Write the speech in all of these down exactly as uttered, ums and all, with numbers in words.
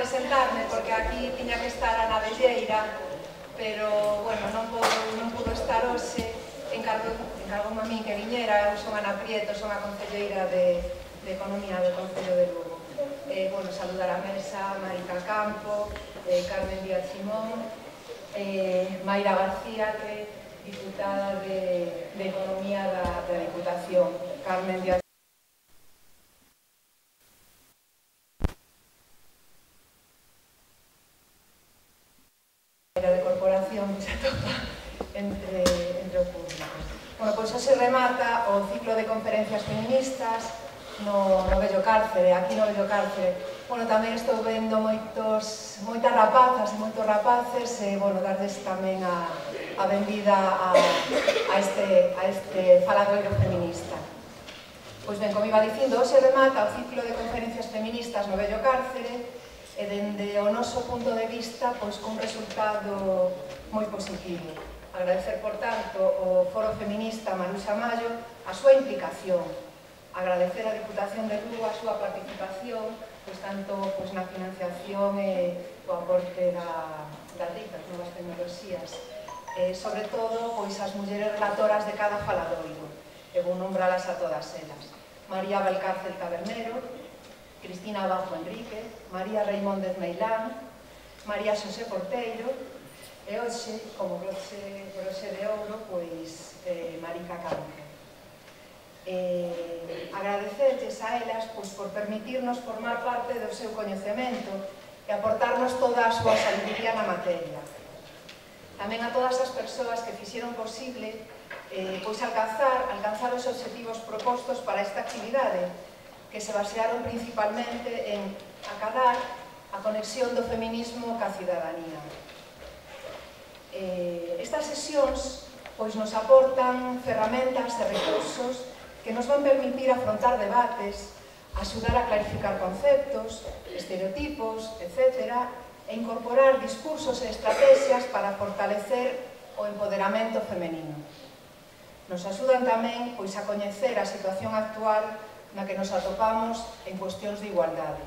presentarme porque aquí tiña que estar a Navelleira, pero, bueno, non pudo, non pudo estar hoxe, encargo, encargoume a min que viñera, eu son Ana Prieto, son a concelleira de, de Economía do Concello de Lugo. Eh, bueno, saludar a mesa, Marica Campo, eh, Carmen Díaz Simón, eh, Mayra García, que é diputada de, de Economía da, da Diputación, Carmen Díaz de corporación que se atopa entre, entre o público. Bueno, pois hoxe remata o ciclo de conferencias feministas no, no Bello Cárcere, aquí no Bello Cárcere. Bueno, tamén estou vendo moitos, moitas rapazas e moitos rapaces e, bueno, darles tamén a, a benvida a, a, este, a este faladoiro feminista. Pois ben, como iba dicindo, hoxe remata o ciclo de conferencias feministas no Bello Cárcere e dende o noso punto de vista, pois, con un resultado moi positivo. Agradecer, por tanto, ao Foro Feminista Maruxa Mallo a súa implicación. Agradecer á Diputación de Lugo a súa participación, pois, tanto pois, na financiación e o aporte da, das ricas novas tecnoloxías. E, sobre todo, pois, as mulleres relatoras de cada faladoiro. E vou nombralas a todas elas. María Valcárcel Tabernero, Cristina Abajo Enrique, María Reimóndez Meilán, María Xosé Porteiro e hoxe, como broche, broche de ouro, pois eh, Marica Campo. Eh, agradecerles a elas pois, por permitirnos formar parte do seu coñecemento e aportarnos toda a súa sabiduría na materia. Tamén a todas as persoas que fixeron posible eh, pois alcanzar, alcanzar os obxectivos propostos para esta actividade, que se basearon principalmente en acadar a conexión do feminismo ca cidadanía. Eh, estas sesións pois, nos aportan ferramentas e recursos que nos van permitir afrontar debates, axudar a clarificar conceptos, estereotipos, etcétera, e incorporar discursos e estrategias para fortalecer o empoderamento femenino. Nos axudan tamén pois, a coñecer a situación actual na que nos atopamos en cuestións de igualdade.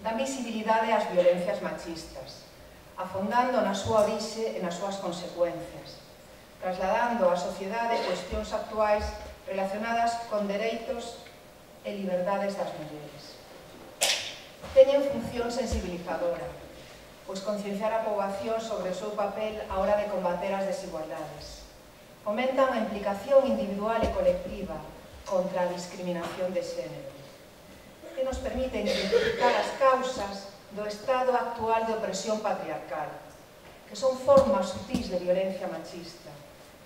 Dan visibilidade ás violencias machistas, afondando na súa orixe e nas súas consecuencias, trasladando á sociedade cuestións actuais relacionadas con dereitos e liberdades das mulleres. Teñen función sensibilizadora, pois concienciar a poboación sobre o seu papel á hora de combater as desigualdades. Fomentan a implicación individual e colectiva contra a discriminación de xénero, que nos permite identificar as causas do estado actual de opresión patriarcal, que son formas sutís de violencia machista,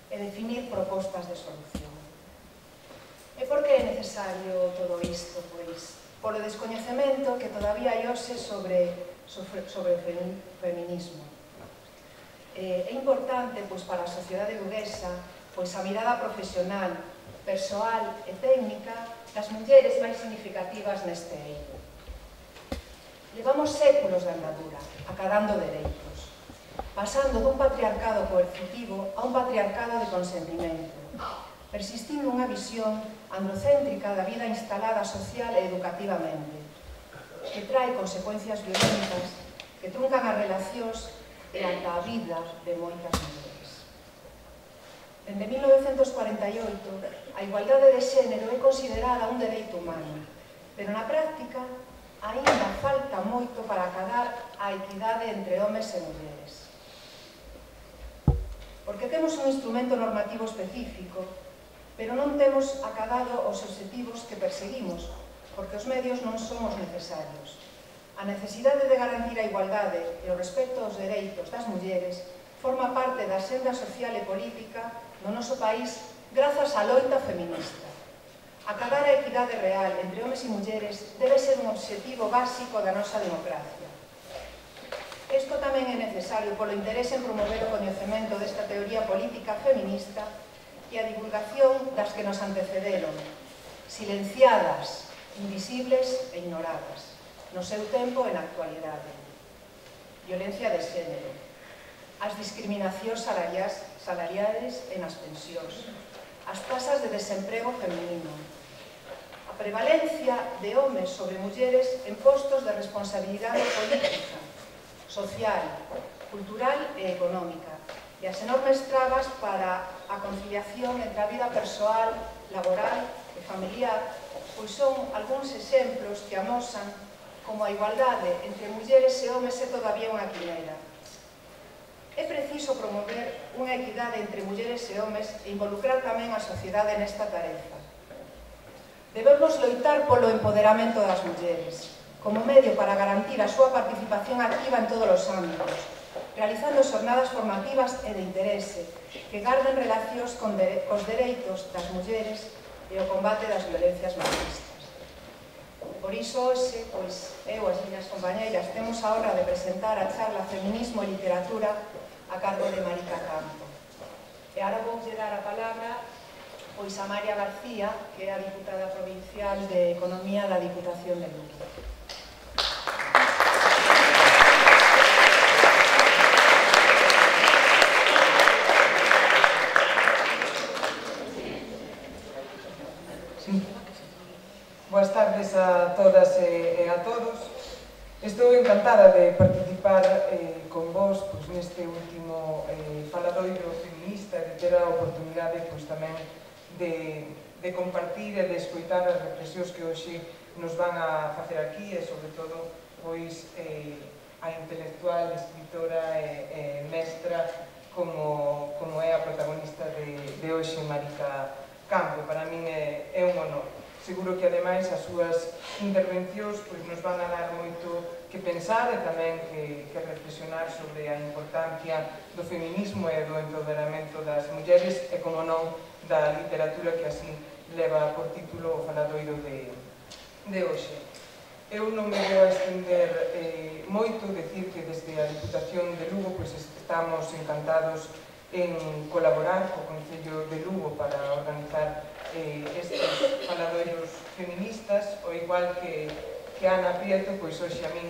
e definir propostas de solución. E por que é necesario todo isto? Pois, polo descoñecemento que todavía hai hoxe sobre, sobre, sobre o feminismo. É importante pois, para a sociedade luguesa pois, a mirada profesional, persoal e técnica das mulleres máis significativas neste eido. Levamos séculos de andadura, acadando dereitos, pasando dun patriarcado coercitivo a un patriarcado de consentimento, persistindo unha visión androcéntrica da vida instalada social e educativamente, que trae consecuencias violentas que truncan as relacións e ata a vida de moitas mulleres. Dende mil novecentos cuarenta e oito, a igualdade de xénero é considerada un dereito humano, pero na práctica aínda falta moito para acadar a equidade entre homes e mulleres. Porque temos un instrumento normativo específico, pero non temos acadado os obxectivos que perseguimos, porque os medios non son os necesarios. A necesidade de garantir a igualdade e o respecto aos dereitos das mulleres forma parte da senda social e política no noso país grazas á loita feminista. Acadar a equidade real entre homes e mulleres debe ser un obxectivo básico da nosa democracia. Isto tamén é necesario polo interese en promover o coñecemento desta teoría política feminista e a divulgación das que nos antecederon, silenciadas, invisibles e ignoradas, no seu tempo e na actualidade. Violencia de xénero, as discriminacións salariais, salariales e nas pensións, as tasas de desemprego feminino, a prevalencia de homes sobre mulleres en postos de responsabilidade política, social, cultural e económica, e as enormes trabas para a conciliación entre a vida persoal, laboral e familiar, pois son algúns exemplos que amosan como a igualdade entre mulleres e homes é todavía unha quimera. É preciso promover unha equidade entre mulleres e homes e involucrar tamén a sociedade nesta tarefa. Debemos loitar polo empoderamento das mulleres, como medio para garantir a súa participación activa en todos os ámbitos, realizando xornadas formativas e de interese que garden relacións con os dereitos das mulleres e o combate das violencias machistas. Por iso, hoxe, pois, eu e as miñas compañeiras temos a honra de presentar a charla Feminismo e Literatura a cargo de Marica Campo. E agora vou dar a palabra pois a María García, que é a diputada provincial de Economía da Diputación de Lugo. Sí. Boas tardes a todas e a todos. Estou encantada de participar eh, con vos pois, neste último eh, faladoiro feminista e de ter a oportunidade pois, tamén de, de compartir e de escoitar as reflexións que hoxe nos van a facer aquí e, sobre todo, pois, eh, a intelectual, escritora e, e mestra como, como é a protagonista de, de hoxe, Marica Campo. Para min é, é un honor. Seguro que, ademais, as súas intervencións pois, nos van a dar moito que pensar e tamén que, que reflexionar sobre a importancia do feminismo e do empoderamento das mulleres e, como non, da literatura que así leva por título o faladoiro de, de hoxe. Eu non me vou a estender eh, moito, decir que desde a Diputación de Lugo pois, estamos encantados en colaborar co Concello de Lugo para organizar eh, estes faladoiros feministas, o igual que, que Ana Prieto, pois hoxe a min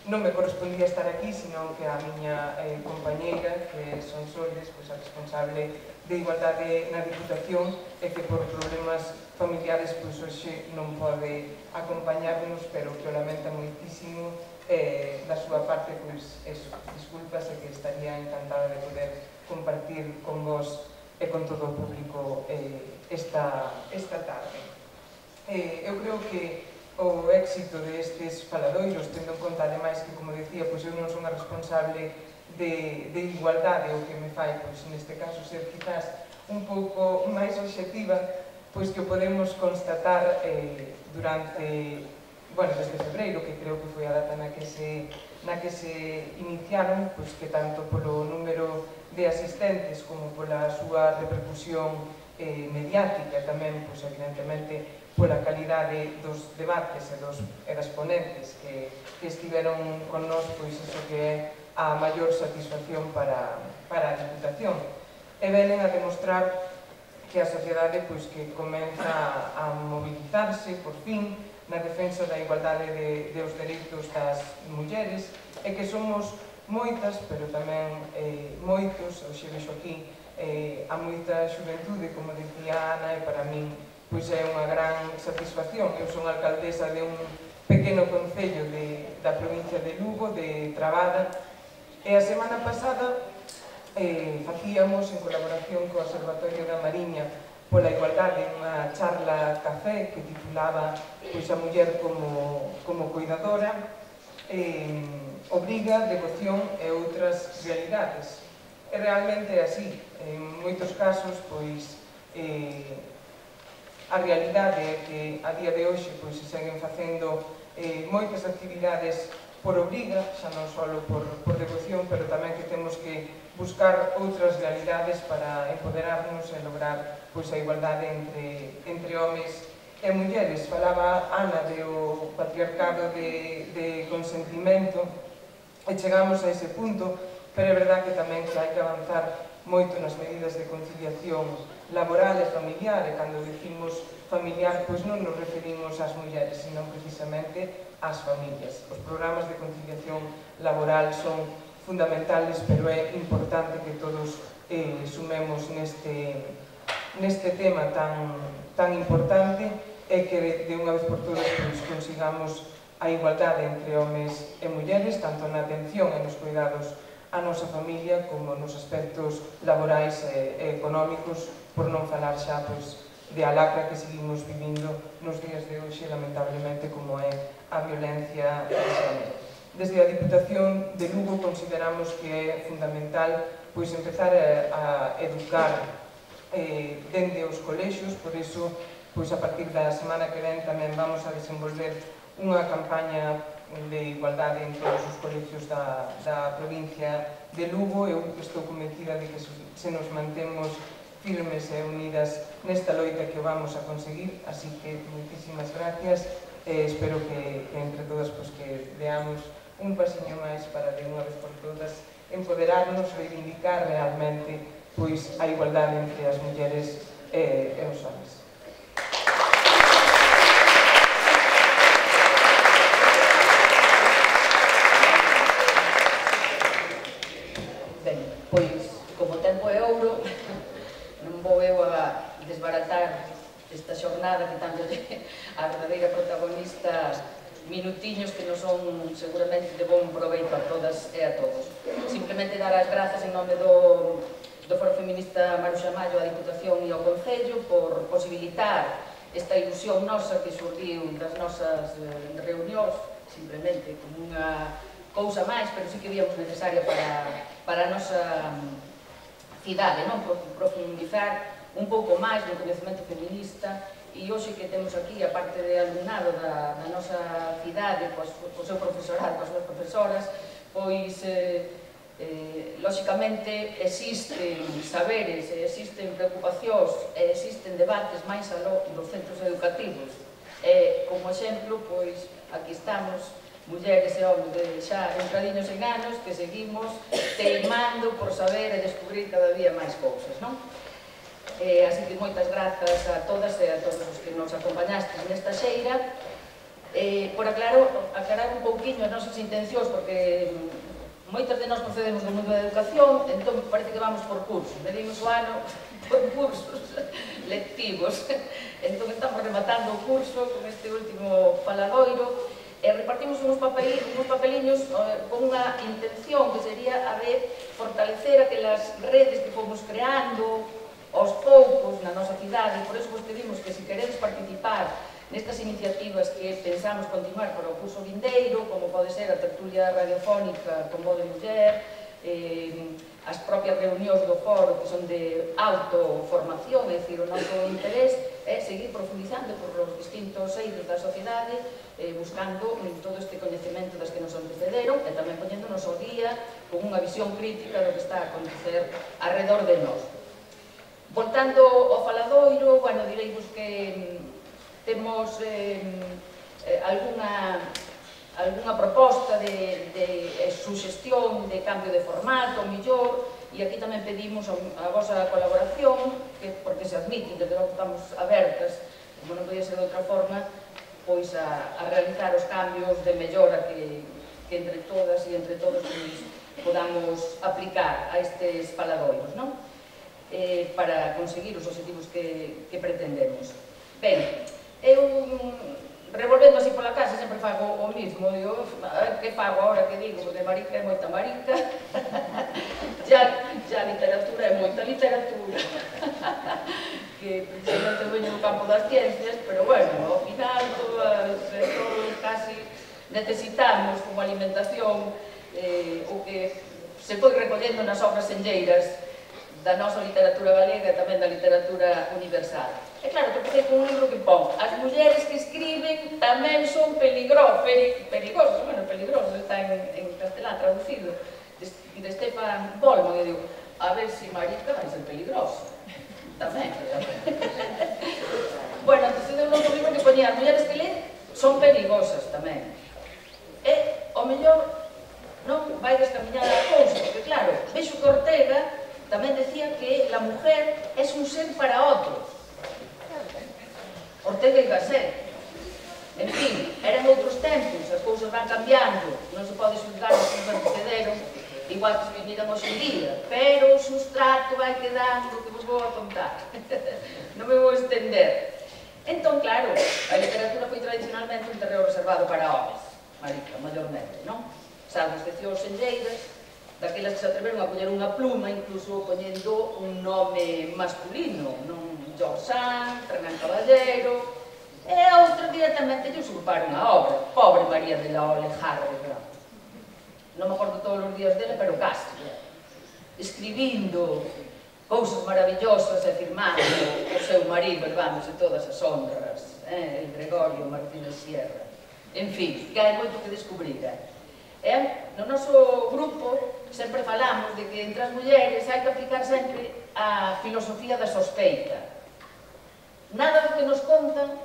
non me correspondía estar aquí, sino que a miña eh, compañeira, que son Soles, pois a responsable de Igualdade na Diputación, e que por problemas familiares pois hoxe non pode acompañarnos, pero que o lamenta moitísimo. Eh, da súa parte, pois, eso, disculpas, e que estaría encantada de poder compartir con vos e con todo o público eh, esta, esta tarde. Eh, eu creo que o éxito destes faladoiros, tendo en conta, ademais, que, como decía, pois eu non son a responsable de, de igualdade, o que me fai, pois, neste caso, ser quizás un pouco máis obxectiva, pois que o podemos constatar eh, durante, bueno, desde febreiro, que creo que foi a data na que se, na que se iniciaron, pois que tanto polo número de asistentes como pola súa repercusión eh, mediática, tamén, pois, evidentemente, pola calidade dos debates e, dos, e das ponentes que, que estiveron con nós, pois iso que é a maior satisfacción para, para a Diputación. E venen a demostrar que a sociedade pois, que comeza a mobilizarse, por fin, na defensa da igualdade de, de os dereitos das mulleres, e que somos moitas, pero tamén eh, moitos, hoxe vexo aquí eh, a moita xuventude, como decía Ana, e para min pois é unha gran satisfacción. Eu son alcaldesa de un pequeno concello de, da provincia de Lugo, de Trabada, e a semana pasada eh, facíamos, en colaboración co Observatorio da Mariña pola Igualdade, unha charla café que titulaba pois, a muller como, como cuidadora, eh, obriga, devoción e outras realidades. E realmente é así. En moitos casos, pois, eh, a realidade é que a día de hoxe pois, se seguen facendo eh, moitas actividades por obriga, xa non só por, por devoción, pero tamén que temos que buscar outras realidades para empoderarnos e lograr pois, a igualdade entre, entre homes e mulleres. Falaba Ana do patriarcado de, de consentimento e chegamos a ese punto, pero é verdad que tamén que hai que avanzar moito nas medidas de conciliación laboral e familiar, e cando decimos familiar, pois non nos referimos ás mulleres, senón precisamente ás familias. Os programas de conciliación laboral son fundamentales, pero é importante que todos eh, sumemos neste, neste tema tan, tan importante e que de unha vez por todas consigamos a igualdade entre homes e mulleres, tanto na atención e nos cuidados a nosa familia como nos aspectos laborais e económicos, por non falar xa de a lacra que seguimos vivindo nos días de hoxe, lamentablemente, como é a violencia de xénero. Desde a Diputación de Lugo consideramos que é fundamental pois empezar a educar dende os colexios, por iso pois a partir da semana que ven tamén vamos a desenvolver unha campaña de igualdade en todos os colexios da, da provincia de Lugo. Eu estou convencida de que se nos mantemos firmes e unidas nesta loita que vamos a conseguir, así que moitísimas gracias e espero que, que entre todas pues, que veamos un pasiño máis para de unha vez por todas empoderarnos, reivindicar realmente pois, a igualdade entre as mulleres e, e os homens. Ben, pois, como tempo é ouro, non vou eu a desbaratar esta xornada que tanto a verdadeira protagonista minutiños que non son seguramente de bon proveito a todas e a todos. Simplemente dar as grazas en nome do, do Foro Feminista Maruxa Mallo, a Diputación e ao Concello por posibilitar esta ilusión nosa que surgiu das nosas eh, reunións, simplemente como unha cousa máis, pero sí que víamos necesaria para, para a nosa cidade, non? Profundizar un pouco máis no coñecemento feminista. E hoxe que temos aquí, a parte de alumnado da, da nosa cidade, pois, o seu profesorado, as súas profesoras, pois, eh, eh, lóxicamente, existen saberes, existen preocupacións, e existen debates máis aló dos centros educativos. E, como exemplo, pois, aquí estamos, mulleres e homens de xa entradiños en anos, que seguimos teimando por saber e descubrir cada día máis cousas, non? Eh, así que moitas grazas a todas e a todos os que nos acompañastes nesta xeira. Eh, por aclarar, aclarar un pouquiño as nosas intencións, porque moitas de nós procedemos do mundo da educación, entón parece que vamos por cursos, medimos o ano por cursos lectivos. Entón estamos rematando o curso con este último faladoiro e repartimos uns, papel, uns papeliños eh, con unha intención que sería a de fortalecer aquelas redes que fomos creando aos poucos na nosa cidade. Por iso vos pedimos que se queredes participar nestas iniciativas que pensamos continuar para o curso vindeiro, como pode ser a tertulia radiofónica con voz de muller, eh, as propias reunións do foro que son de autoformación, é dicir, o noso interés é seguir profundizando por os distintos eidos da sociedade, eh, buscando todo este coñecemento das que nos antecederon e tamén poñéndonos ao día con unha visión crítica do que está a acontecer alrededor de nós. Voltando ao faladoiro, bueno, direivos que temos eh, alguna, alguna proposta de, de suxestión de cambio de formato, millor, e aquí tamén pedimos a, a vosa colaboración, que, porque se admiten, desde logo estamos abertas, como non podía ser de outra forma, pois a, a realizar os cambios de mellora que, que entre todas e entre todos podamos aplicar a estes faladoiros, non? Eh, para conseguir os objetivos que, que pretendemos. Ben, eu revolvendo así pola casa sempre fago o mismo, digo, que fago agora que digo, porque marica é moita marica, ya, ya literatura é moita literatura, que precisamente veño do campo das ciencias, pero bueno, ao final todas, todos casi necesitamos como alimentación eh, o que se foi recollendo nas obras senlleiras da nosa literatura galega e tamén da literatura universal. É claro que empecé con un libro que pon as mulleres que escriben tamén son peligro, peri, perigosas, bueno, peligrosos, está en, en castelán traducido, de, de Stefan Bolman, e digo, a ver se si marica vai ser peligrosa. Tamén. Bueno, entón é un outro libro que ponía as mulleres que leen son perigosas tamén. E, ao mellor, non vai descamiñar a cousa, porque claro, vexo que Ortega tamén decía que la mujer es un ser para otros. Ortega y Gasset. En fin, eran outros tempos, as cousas van cambiando, non se pode xulgar os que nos antecederon, igual que se viviran hoxe en día, pero o sustrato vai quedando que vos vou a contar. Non me vou estender. Entón, claro, a literatura foi tradicionalmente un terreo reservado para homes, marica, maiormente, non? Salvo excepcións senlleiras, daquelas que se atreveron a poñer unha pluma, incluso poñendo un nome masculino, non? George Sand, Fernán Caballero, e a outra directamente lle usurparon a obra. Pobre María de la Alejandra. Non me acordo todos os días dele, pero casi. Escribindo cousas maravillosas e firmando o seu marido, levándose todas as honras, el Gregorio Martínez Sierra. En fin, que hai moito que descubrir. No noso grupo sempre falamos de que entre as mulleres hai que aplicar sempre a filosofía da sospeita. Nada do que nos contan,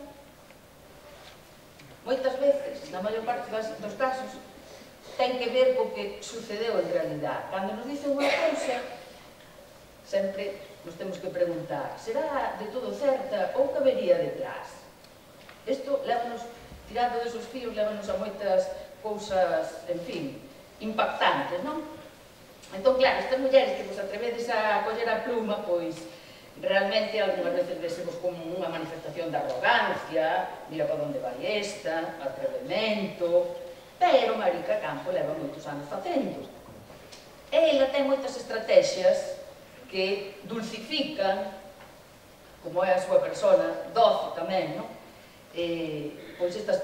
moitas veces, na maior parte dos casos, ten que ver co que sucedeu en realidad. Cando nos dicen unha cousa, sempre nos temos que preguntar, será de todo certa ou que vería detrás? Isto lévanos, tirando desos fíos, lévanos a moitas cousas, en fin, impactantes, non? Entón, claro, estas mulleres que vos atrevedes a coller a pluma, pois, realmente, algunhas veces vesemos como unha manifestación de arrogancia, mira para onde vai esta, atrevemento, pero Marica Campo leva moitos anos facendo. E ela ten moitas estrategias que dulcifican, como é a súa persona, doce tamén, non? Pois estas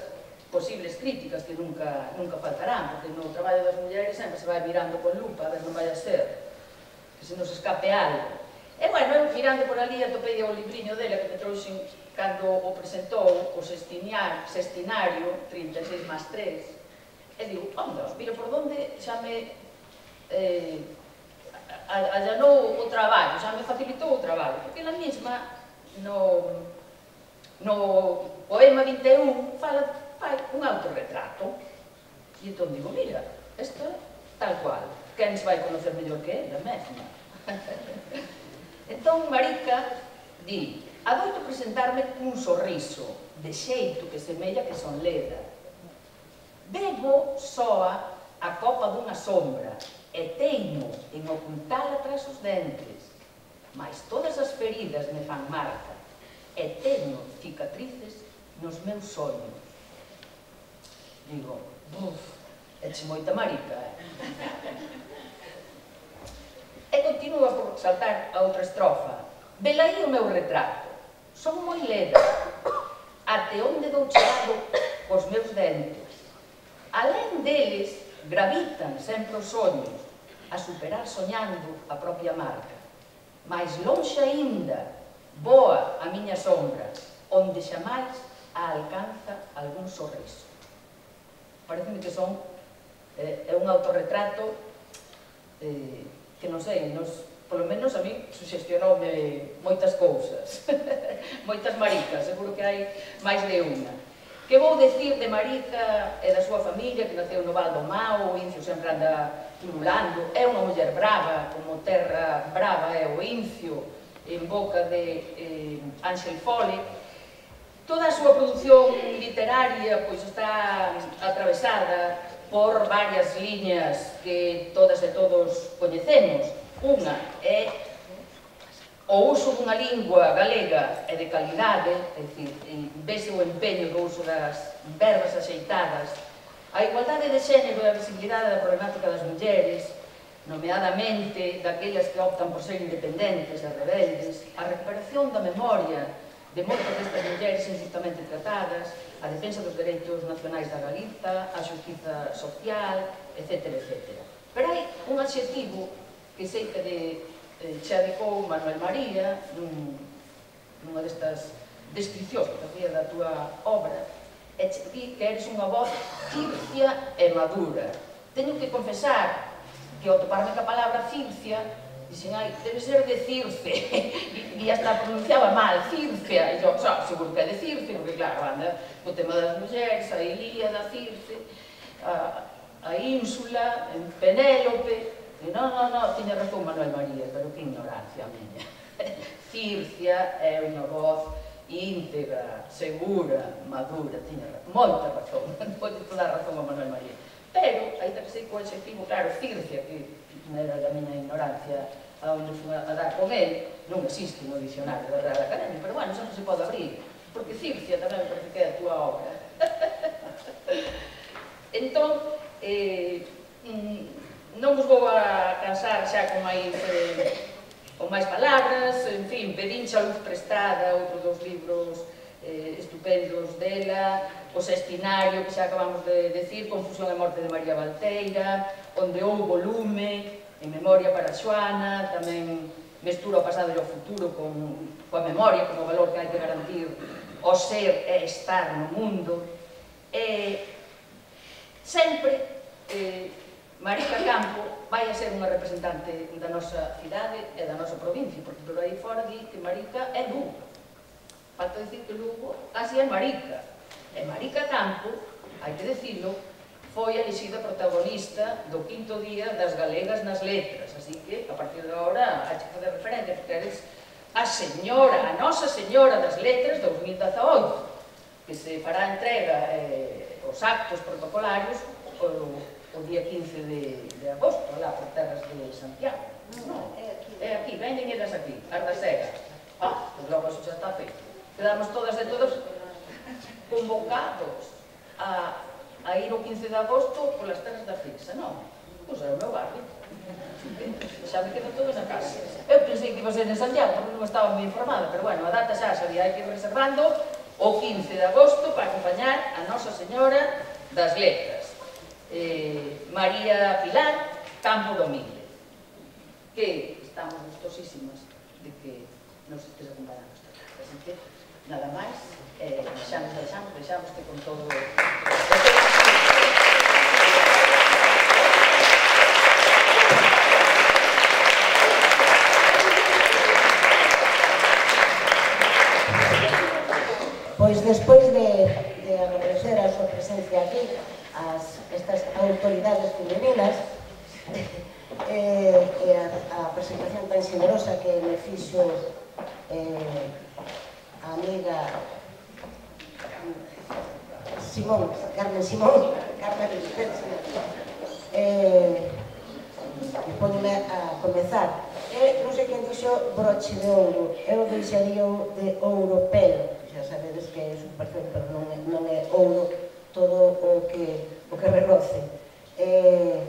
posibles críticas que nunca faltarán, porque no traballo das mulleres sempre se vai mirando con lupa, a ver non vai a ser, que se nos escape algo. E, bueno, eu mirando por ali atopei o libriño dela que me trouxen cando o presentou o sextinario, trinta e seis más tres, e digo, onda, mira por onde xa me allanou o traballo, xa me facilitou o traballo, porque ela mesma no poema vinte e un fai un autorretrato, e entón digo, mira, isto é tal cual, quen se vai conocer mellor que ela mesma? Entón, Marica di, adoito presentarme cun sorriso, de xeito que semella que son leda. Bebo soa a copa dunha sombra, e teimo en ocultala tras os dentes, mas todas as feridas me fan marca, e teño cicatrices nos meus sonhos. Digo, buf, eche moita marica, eh? E continúa por saltar a outra estrofa. Velaí o meu retrato, son moi leda, até onde dou chegado cos meus dentes. Alén deles, gravitan sempre os sonhos, a superar soñando a propia marca. Mais lonxe aínda, voa a miña sombra, onde xamais a alcanza algún sorriso. Pareceme que son, é un autorretrato que non sei, polo menos a mí suxestionoume moitas cousas, moitas maricas, seguro que hai máis de unha. Que vou dicir de Marica e da súa familia, que naceu no Val do Mao, o Incio sempre anda pululando, é unha muller brava, como terra brava é o Incio, en boca de Ángel Fole. Toda a súa produción literaria está atravesada por varias liñas que todas e todos coñecemos. Unha é o uso dunha lingua galega e de calidade, é dicir, vese o empeño do uso das verbas axeitadas, a igualdade de xénero e a visibilidade da problemática das mulleres, nomeadamente daquelas que optan por ser independentes e rebeldes, a recuperación da memoria de moitas destas mulleres injustamente tratadas, a defensa dos dereitos nacionais da Galiza, a xustiza social, etcétera, etcétera. Pero hai un adxetivo que sei que che adicou Manuel María nunha destas descripcións que facía da túa obra, e che di que eres unha voz circia e madura. Teño que confesar que ao toparme ca palabra circia dixen, ai, debe ser de Circe, e hasta pronunciaba mal, Circea, e eu, xa, seguro que é de Circe, porque claro, anda o tema das mulleres, a Ilíada, Circe, a Ínsula, en Penélope, e non, non, non, tiña razón Manuel María, pero que ignorancia a miña. Circia é unha voz íntegra, segura, madura, tiña moita razón, pode dar razón a Manuel María. Pero, aí que sei co adxetivo, claro, Circia, que era da miña ignorancia a onde fui a dar con ele, non existe no dicionario da Real Academia, pero bueno, sempre se pode abrir. porque Circia tamén me parece que é a túa obra. Entón, eh, non vos vou a cansar xa con máis, eh, con máis palabras, en fin, pedinche a Luz Prestada, outro dos libros eh, estupendos dela, o Sextinario, que xa acabamos de decir, Confusión e morte de María Valteira, onde houbo lume, en memoria para Xoana, tamén mestura o pasado e o futuro con, coa memoria como valor que hai que garantir o ser e estar no mundo. E sempre eh, Marica Campo vai a ser unha representante da nosa cidade e da nosa provincia, porque por aí fora di que Marica é Lugo. Falta dicir que Lugo casi é Marica. E Marica Campo, hai que decirlo, foi elixida protagonista do quinto día das Galegas nas Letras, así que, a partir de agora, hai que fazer referencia, porque eres a señora, a Nosa Señora das Letras dos mil dezaoito, que se fará entrega eh, os actos protocolarios o, o día quince de, de agosto, lá por terras de Santiago. Non, é aquí, venen elas aquí, as da Sega. Ah, pois logo eso xa está feito. Quedamos todas e todos convocados a, a ir o quince de agosto polas terras da Fixa, non? Pois é o meu barrio. Xa me quedan todos a casa. Eu pensei que iba a ser en Santiago, porque non estaba moi informada, pero bueno, a data xa sabía, hai que ir reservando o quince de agosto para acompañar a Nosa Señora das Letras, eh, María Pilar Campo Domínguez, que estamos gustosísimas de que nos estés acompañando esta tarde. Así que, nada máis, eh, xa nos deixamos, deixamos que con todo... Pois despois de, de agradecer a súa presencia aquí, as estas autoridades femeninas, eh, e a, a presentación tan xenerosa que me fixo eh, a amiga Simón, Carmen Simón, Carmen eh, e ponme a comezar. E non sei quen dixo broche de ouro, eu deixaría de ouro pelo. Xa sabedes que é superfluo, pero non é, non é ouro todo o que, o que reloce. É,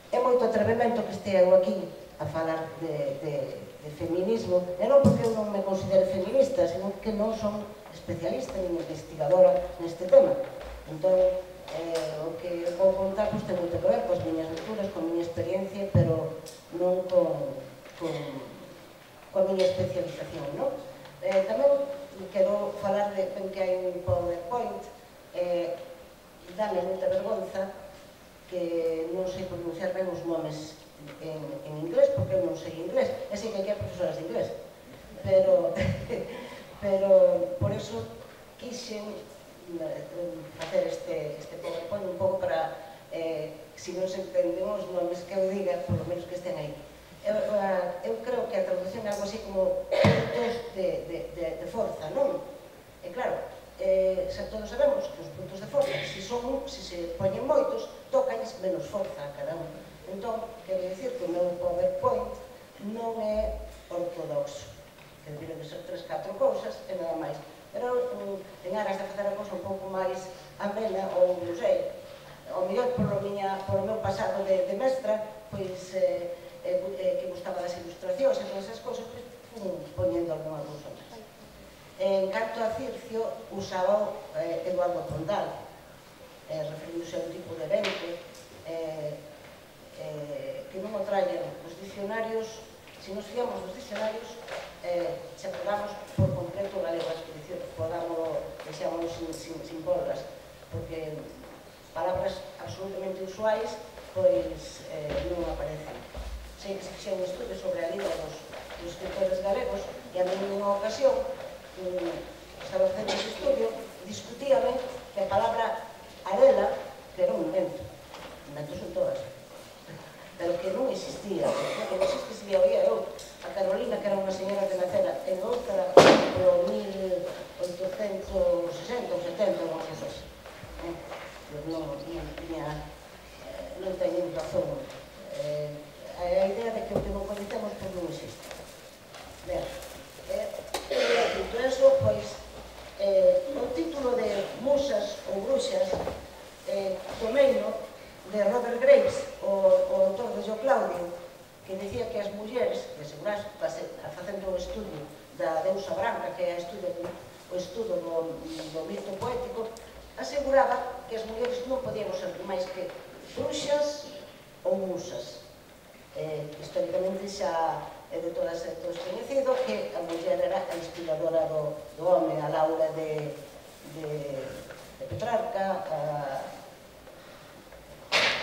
é moito atrevemento que estea eu aquí a falar de, de, de feminismo, e non porque eu non me considere feminista, sino que non son especialista ni investigadora neste tema. Entón, eh, o que vou contar pois, ten moito que ver coas miñas lecturas, con a miña experiencia, pero non con, con, con a miña especialización, non? Eh, tamén quero falar de que hai un PowerPoint, eh, dame moita vergonza que non sei pronunciar ben os nomes en, en inglés, porque eu non sei inglés, e sei que aquí hai profesoras de inglés, pero, pero por eso quixen facer este, este PowerPoint un pouco para, eh, se non se entenden os nomes que eu diga, por lo menos que estén aí. Eu, eu creo que a traducción é algo así como puntos de, de, de, de forza, non? E claro, eh, xa todos sabemos que os puntos de forza, se son, se se poñen moitos, tocañes menos forza a cada un. Entón, quero dicir que o meu PowerPoint non é ortodoxo, que deberían de ser tres, catro cousas e nada máis. Pero en aras de facer a cousa un pouco máis amena, ou non sei, ao mellor polo, miña, polo meu pasado de, de mestra, pois... Eh, Eh, que gustaba das ilustracións e todas esas cousas, pois fun poñendo alguna cousa máis. En canto a Circio, usaba eh, Eduardo Pondal, eh, referíndose a un tipo de evento eh, eh, que non o traen os dicionarios. Se nos fiamos dos dicionarios, eh, se pegamos por completo galego a exposición, podamos, deixámonos sin, sin, sin polgas, porque palabras absolutamente usuais, pois eh, non aparecen. Sei que se fixe un estudio sobre a lida dos, dos escritores galegos, e a mí nunha ocasión um, estaba facendo ese estudio, discutíame que a palabra arela, que era un invento, inventos son todas, pero que non existía, que non existe se lia oía eu, a Carolina, que era unha señora que nacera en outra, no mil oitocentos sesenta ou setenta, ou algo así. Non, non, non teñen razón. Eh, a idea de que o que non coñecemos pois non existe. Ben, eh, dito eso, pois, e asegurar, facendo o estudio da deusa branca, que é o estudo do mito poético, aseguraba que as mulleres non podíamos ser máis que bruxas ou musas. Históricamente xa é de todas e todos coñecido que a muller era a inspiradora do home, a Laura de Petrarca,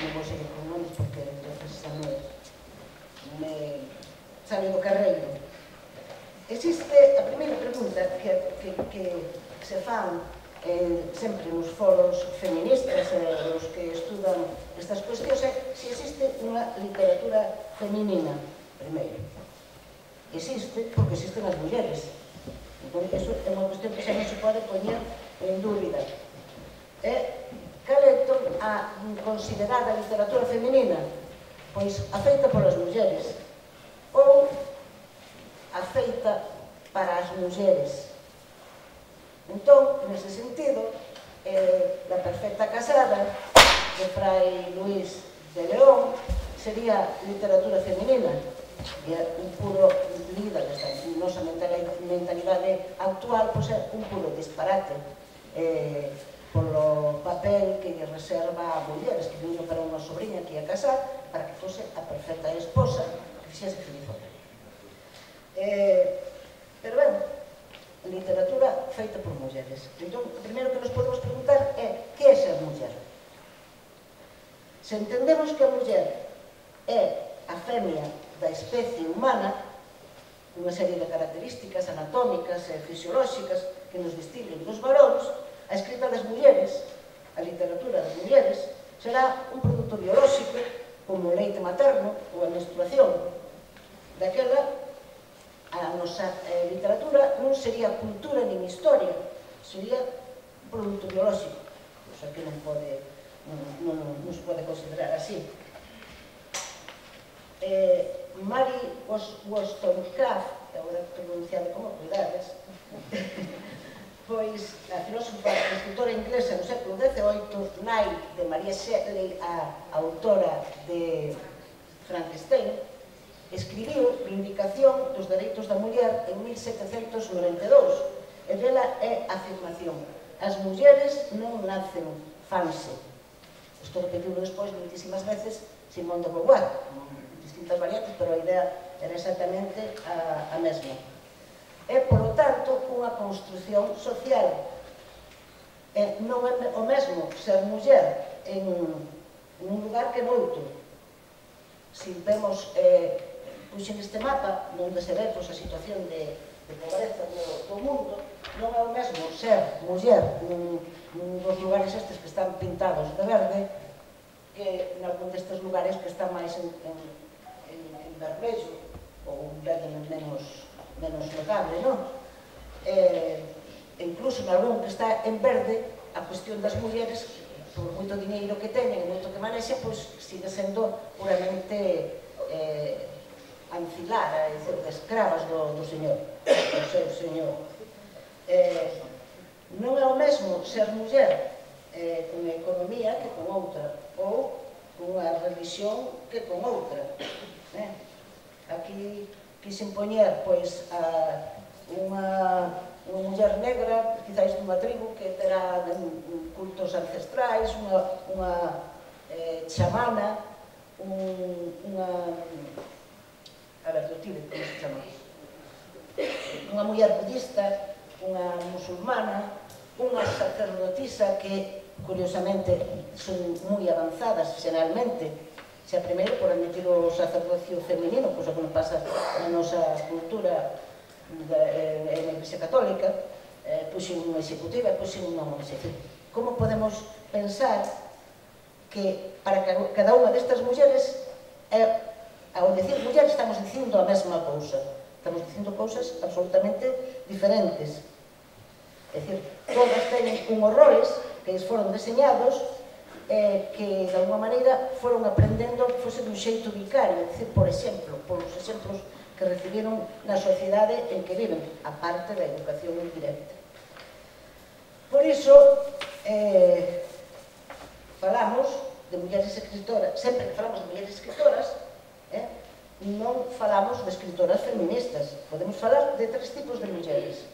non vou seguir con nomes porque xa me sale do carreiro. Existe a primeira pregunta que se fan sempre nos foros feministas, os que estudan estas cuestións, é se existe unha literatura feminina, primeiro. Existe porque existen as mulleres. Entón, iso é unha cuestión que xa non se pode poñer en dúbida. Cal é a considerada literatura feminina? Pois a feita polas mulleres ou a feita para as mulleres. Entón, nese sentido, La perfecta casada de Fray Luis de León sería literatura feminina, e un puro lida desta nosa mentalidade actual, pois é un puro disparate polo papel que lle reserva a mulleres que viño para unha sobrinha que ia casar para que fose a perfecta esposa que fixese feliz ao rei. Pero ben, literatura feita por mulleres. Entón, o primeiro que nos podemos preguntar é que é ser muller? Se entendemos que a muller é a femia da especie humana, unha serie de características anatómicas e fisiolóxicas que nos distinguen dos varóns, a escrita das mulleres, a literatura das mulleres, será un produto biolóxico como o leite materno ou a menstruación. Daquela, a nosa literatura non sería cultura nin historia, sería un produto biolóxico, o sea que non se pode considerar así. Mary Wollstonecraft, agora pronunciado como cuidades, pois a filósofa e escritora inglesa do século dezaoito, nai de Maria Shelley, a autora de Frankenstein, escribiu Vindicación dos Dereitos da Muller en mil setecentos noventa e dous, e dela é a afirmación: as mulleres non nacen fanse. Isto repetido despois muitísimas veces Simone de Beauvoir, distintas variantes, pero a idea era exactamente a mesma. É, polo tanto, unha construción social. Non é o mesmo ser muller en un lugar que noutro. Se vemos, puxen este mapa, onde se ve a situación de pobreza do mundo, non é o mesmo ser muller nun dos lugares estes que están pintados de verde que en algún destes lugares que están máis en vermello ou un verde menos notable, non? Incluso en algún que está en verde, a cuestión das mulleres, por moito diñeiro que teñen e moito que manexen, pois sigue sendo puramente ancilar, é dicir, de escravas do señor, do seu señor. Non é o mesmo ser muller con economía que con outra, ou con unha religión que con outra. Aquí quixen poñer unha muller negra, quizáis dunha tribu que terá cultos ancestrais, unha chamana, unha... a ver, do Tíbet, como se chama? Unha muller budista, unha musulmana, unha sacerdotisa que, curiosamente, son moi avanzadas, xeralmente, xa primeiro por admitir o sacerdocio femenino, cosa que non pasa na nosa cultura na Iglesia Católica, puxen unha executiva e puxen unha executiva. Como podemos pensar que para cada unha destas mulleres, ao dicir muller, estamos dicindo a mesma cousa, estamos dicindo cousas absolutamente diferentes. É dicir, todas teñen unhos roles que foron deseñados que, de alguma maneira, foron aprendendo que fose dun xeito vicario, é dicir, por exemplo, polos exemplos que recibiron na sociedade en que viven, a parte da educación indirecta. Por iso, falamos de mulleres escritoras, sempre que falamos de mulleres escritoras, non falamos de escritoras feministas, podemos falar de tres tipos de mulleres.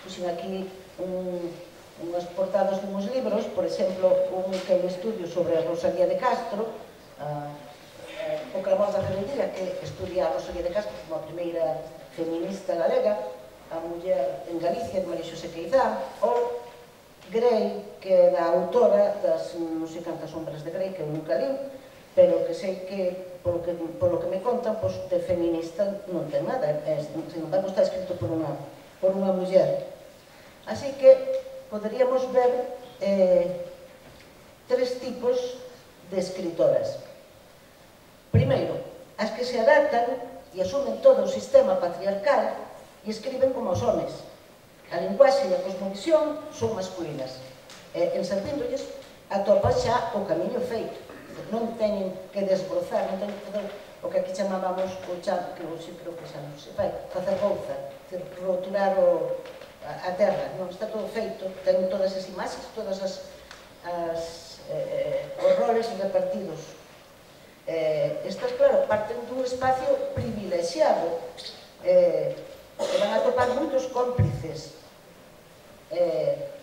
Puxen aquí unhas portadas de uns libros, por exemplo, un que é un estudio sobre a Rosalía de Castro, o Clamor da Rebeldía, que estudia a Rosalía de Castro como a primeira feminista galega, a muller en Galicia de María Xosé Queizá, ou Grey, que é da autora das non sei cantas sombras de Grey, que eu nunca li, pero que sei que, polo que, polo que me contan, pois, de feminista non ten nada, é, sin embargo está escrito por unha, por unha muller. Así que poderíamos ver eh, tres tipos de escritoras. Primeiro, as que se adaptan e asumen todo o sistema patriarcal e escriben como os homes. A linguaxe e a cosmovisión son masculinas. E, en Sarpíndolles, atopa xa o camiño feito. Non teñen que desbrozar, non teñen que fazer o que aquí chamábamos o chan, que hoxe creo que xa non se fai, facer gouza, roturar o, a, a terra. Non, está todo feito, ten todas as imaxes, todas as, as eh, os roles repartidos. Eh, estas, claro, parten dun espacio privilexiado, eh, e van a topar moitos cómplices. Eh,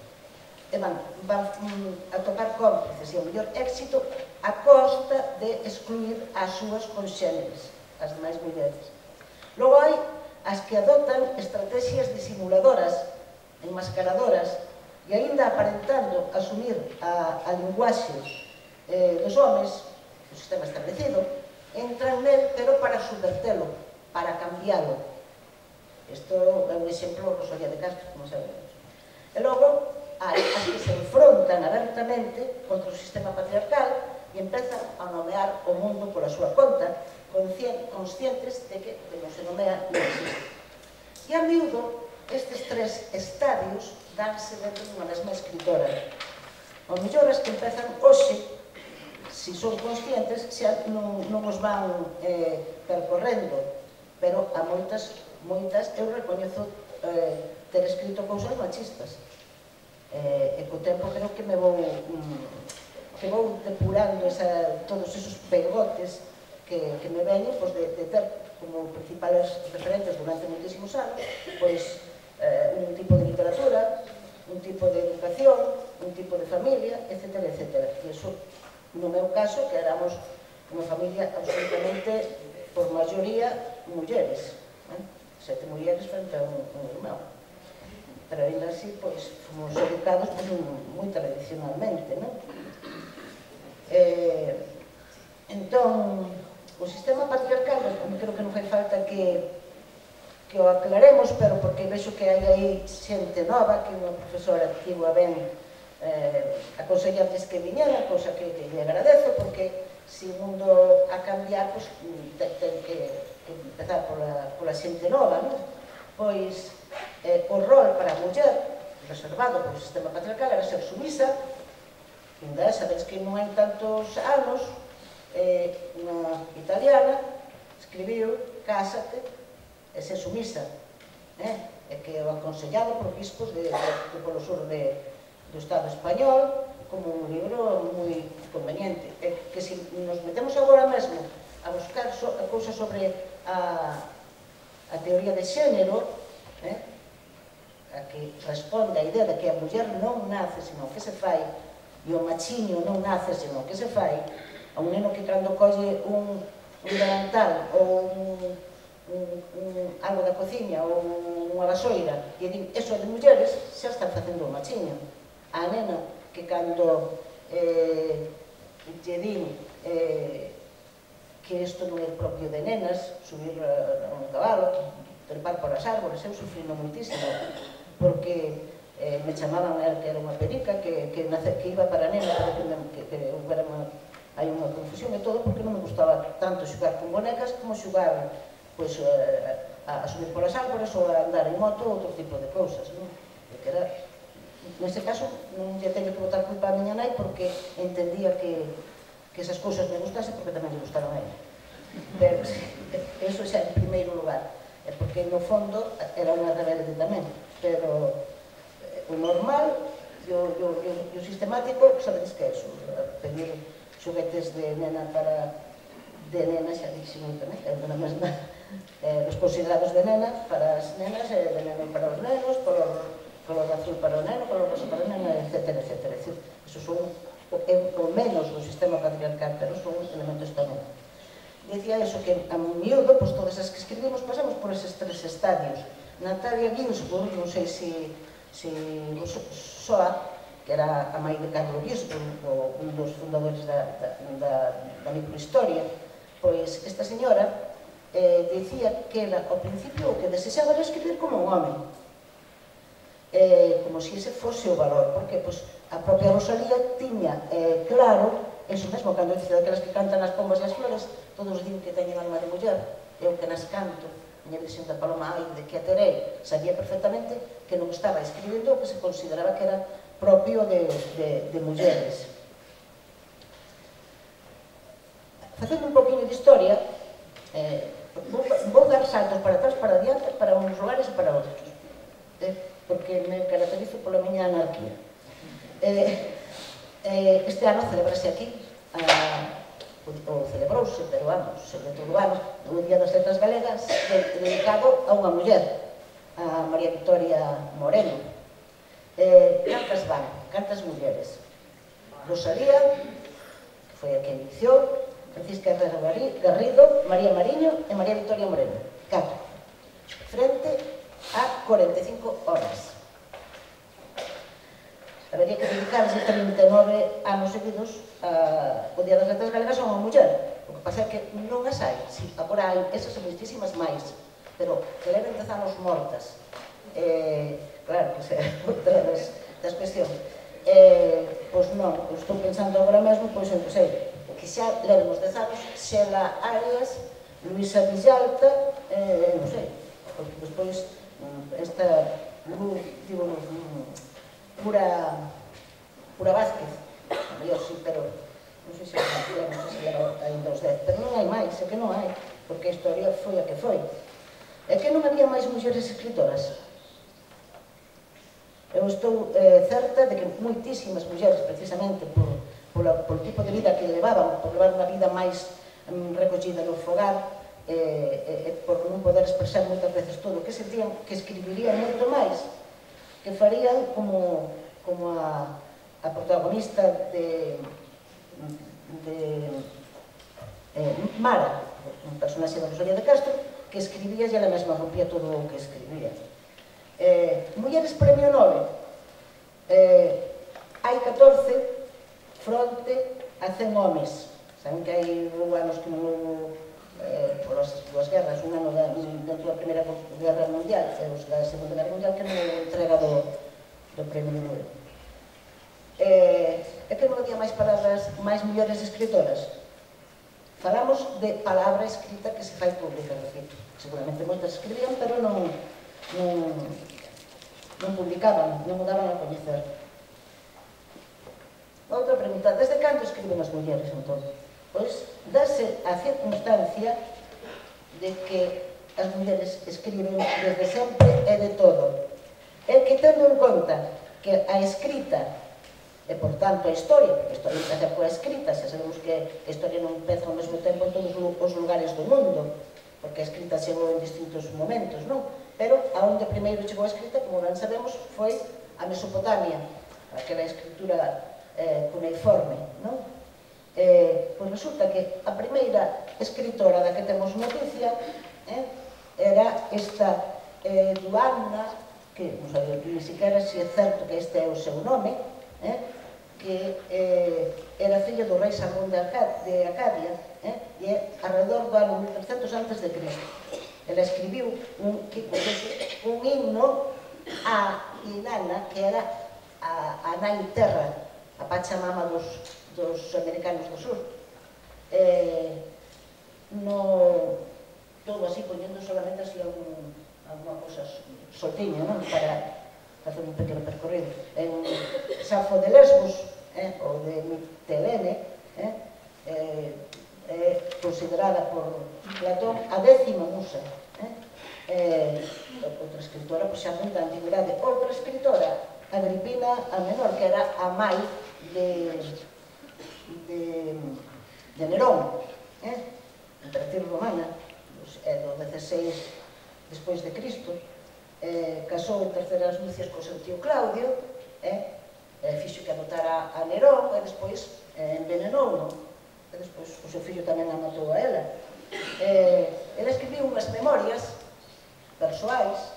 e van, van a topar cómplices e o mellor éxito a costa de excluir as súas conxéneres, as demais mulleres. Logo hai as que adoptan estrategias disimuladoras, enmascaradoras, e aínda aparentando asumir a, a linguaxe eh, dos homes, o sistema establecido, entran nel, pero para subvertelo, para cambiálo. Isto é un exemplo de Rosalía de Castro, como sabemos. E logo, hai as que se enfrontan abertamente contra o sistema patriarcal e empezan a nomear o mundo pola súa conta, conscientes de que de non se nomea non existe. E a miúdo, estes tres estadios danse dentro dunha mesma escritora. O mellor as que empezan hoxe, se son conscientes, xa non, non os van eh, percorrendo, pero a moitas, moitas eu recoñezo eh, ter escrito cousas machistas. Eh, e co tempo creo que me vou mm, que vou depurando esa, todos esos pegotes que, que me veñen, pois, de, de ter como principales referentes durante moitísimos anos, pois, eh, un tipo de literatura, un tipo de educación, un tipo de familia, etcétera, etcétera. E iso, no meu caso, que éramos unha familia absolutamente, por maioría, mulleres. Eh? Sete mulleres frente a un, un irmão. Pero ainda así, pois, fomos educados pues, moi tradicionalmente, non? Eh, entón, o sistema patriarcal, creo que non fai falta que, que o aclaremos, pero porque vexo que hai aí xente nova, que unha profesora que iba ben eh, aconsellarles que viñera, cosa que, que lle agradezo, porque se o mundo a cambiar, pues, ten, ten que, que empezar pola, pola xente nova, non? Pois, eh, o rol para a muller reservado polo sistema patriarcal era ser sumisa. Ainda sabedes que non hai tantos anos eh, unha italiana escribiu cásate e ser sumisa, eh? E que o aconsellado por bispos de, de, de polo sur de, do Estado español como un libro moi conveniente. E que se nos metemos agora mesmo a buscar so, a cousas sobre a a teoría de xénero, eh, a que responde a idea de que a muller non nace, senón que se fai, e o machiño non nace, senón que se fai, a un neno que cando colle un, un delantal ou un, un, un, algo da cociña ou unha vasoira e din, eso é de mulleres, xa están facendo o machiño. A nena que cando eh, lle din eh, que isto non é propio de nenas, subir a un cabalo, trepar por as árbores, eu sufrindo muitísimo, porque eh, me chamaban a que era unha perica, que, que, nace, que iba para nena, que, que, que hubiera unha, hai unha confusión e todo, porque non me gustaba tanto xugar con bonecas como xugar pues, a, a subir polas árbores ou a andar en moto ou outro tipo de cousas, non? Que era, nese caso, non lle teño que botar culpa a miña nai porque entendía que que esas cousas me gustasen porque tamén lle gustaron a ela. Pero, eso xa en primeiro lugar, é porque no fondo era unha rebelde tamén, pero eh, o normal e o, o, o, o sistemático, sabedes que é eso, pedir xoguetes de nena para, de nena, xa dixen tamén, é unha mesma, eh, os considerados de nena para as nenas, e de neno para os nenos, color, color azul para o neno, color rosa para o neno, etcétera, etcétera. Eso son o menos do sistema patriarcal, pero son elementos tamén. Dicía eso, que a miúdo, pois todas as que escribimos pasamos por eses tres estadios. Natalia Ginsburg, non sei se soa, que era a mãe de Carlo Ginsburg, un dos fundadores da microhistoria, pois esta señora dicía que ela, ao principio, o que desexaba era escribir como un home, como se ese fose o valor, porque a propia Rosalía tiña claro, eso mesmo, cando dice daquelas que cantan as pombas e as flores, todos din que teñen alma de muller, eu que nas canto, miña versión da Paloma, ai, de que a terei, sabía perfectamente que non estaba escribindo o que se consideraba que era propio de mulleres. Facendo un poquinho de historia, vou dar saltos para atrás, para adiante, para uns lugares e para outros, porque me caracterizo pola miña anarquía. Este ano celebrase aquí, ou celebrouse, pero vamos, sobre todo o ano, o Día das Letras Galegas, dedicado a unha muller, a María Victoria Moreno. Cantas van, cantas mulleres? Rosalía, que foi a que iniciou, Francisca Herrera Garrido, María Mariño e María Victoria Moreno. Catro. Frente a corenta e cinco horas. Habería que dedicarse trinta e nove anos seguidos ao Día das Letras Galegas a unha muller. O que pasa é que non as hai. Agora hai esas e moitísimas máis, pero que leven dez anos mortas. Claro, que é outra das cuestións. Pois non, estou pensando agora mesmo, pois eu sei, que xa levemos dez anos, Xela Arias, Luisa Villalta, non sei, porque despois esta digo, Pura Pura Vázquez, a mellor sí, pero non sei se non sei se era ainda os dez, pero non hai máis, é que non hai, porque a historia foi a que foi. É que non había máis mulleres escritoras. Eu estou certa de que moitísimas mulleres, precisamente polo tipo de vida que levaban, por levar unha vida máis recollida no fogar, e por non poder expresar moitas veces todo o que sentían, que escribirían moito máis, que farían como a protagonista de Mara, un personaxe da Rosalía de Castro, que escribía e ela mesma rompía todo o que escribía. Mulleres Premio Nobel, hai catorce fronte a cen homes. Saben que hai anos que non houve polas dúas guerras, un ano dentro da Primeira Guerra Mundial e os da Segunda Guerra Mundial, que non houve entrega do Premio Nobel. É que non había máis palabras, máis mulleres escritoras. Falamos de palabra escrita que se fai pública, seguramente moitas escribían, pero non non publicaban, non o daban a coñecer. Outra pregunta, desde cando escriben as mulleres, entón? Pois, dase a circunstancia de que as mulleres escriben desde sempre e de todo. É que, tendo en conta que a escrita, e por tanto a historia, porque a historia empeza coa escrita, xa sabemos que a historia non empeza ao mesmo tempo en todos os lugares do mundo, porque a escrita chegou en distintos momentos, non? Pero a onde primeiro chegou a escrita, como ben sabemos, foi a Mesopotamia, aquela escritura cuneiforme, non? Pois resulta que a primeira escritora da que temos noticia era esta Duana, que non sei ni siquiera se é certo que este é o seu nome, que era filla do rei Salomón de Acadia, e é alrededor do ano mil trescentos antes de Cristo. Ela escribiu un himno a Inanna, que era a nai terra, a Pachamama dos americanos do sur. Todo así, poñendo solamente así alguna cosa soltiña, para facer un pequeno percorrido. En Safo de Lesbos, ou de Mitelene, é considerada por Platón a décima musa. Outra escritora, pois xa non da antigüidade. Outra escritora, Agripina a Menor, que era a mãe de Nerón. emperatriz romana, é do dezasseis despois de Cristo, casou en terceras nupcias co seu tío Claudio, fixo que adoptara a Nerón, e despois envenenou, e despois o seu fillo tamén a matou a ela. Ela escribiu unhas memorias persoais,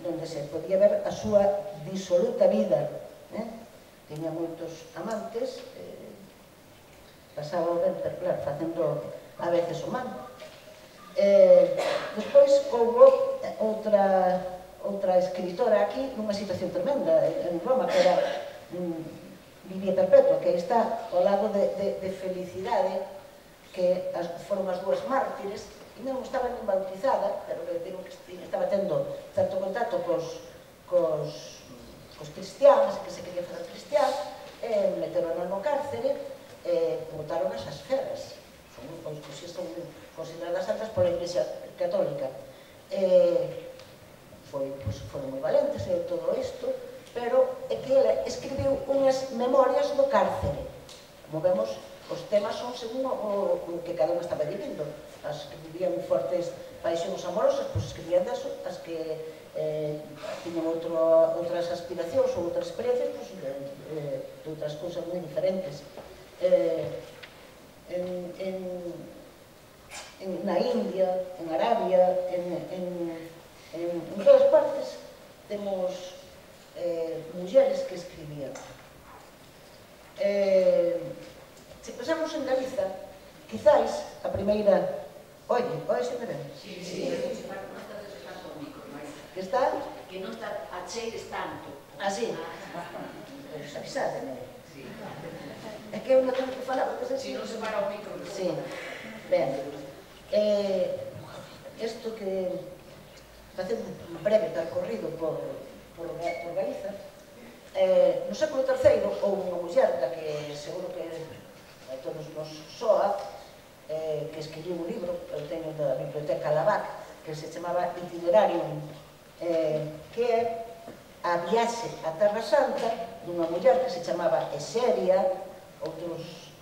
onde se podía ver a súa disoluta vida. Tiña moitos amantes, pasaba o ben, pero claro, facendo a veces o mal. Despois houve outra escritora aquí nunha situación tremenda en Roma, que era Livia Perpetua, que aí está ao lado de Felicidade, que foron as dúas mártires, e non estaba nin bautizada, pero que estaba tendo certo contacto cos cristianos, que se quería fazer cristián, meteron no cárcere e botaron as feras. Son consideradas santas pola Iglesia Católica. Foron moi valentes e todo isto, pero é que ela escribiu unhas memorias do cárcere. Como vemos, os temas son según o que cada unha estaba vivindo. As que vivían fortes paixóns amorosas, pois escribían deso, as que tiñan outras aspiracións ou outras experiencias, pois de outras cousas moi diferentes. Na India, en Arabia, en todas partes, temos mulleres que escribían. Se pensamos en Galiza, quizáis a primeira... Oye, oye, se me ven? Sí, sí, non estás tanto o micro, non é? Que está? Que non está a cheires tanto. Ah, sí? Pois avisádeme. É que eu non tengo que falar, porque se non se para o micro. Sí, ben. Isto que... facendo un breve percorrido por Galiza, no século terceiro houve unha muller da que seguro que a todos nos soa, que escribiu un libro, eu teño da Biblioteca Lavac, que se chamaba Itinerarium, que é a viaxe a Terra Santa dunha muller que se chamaba Eseria, outros,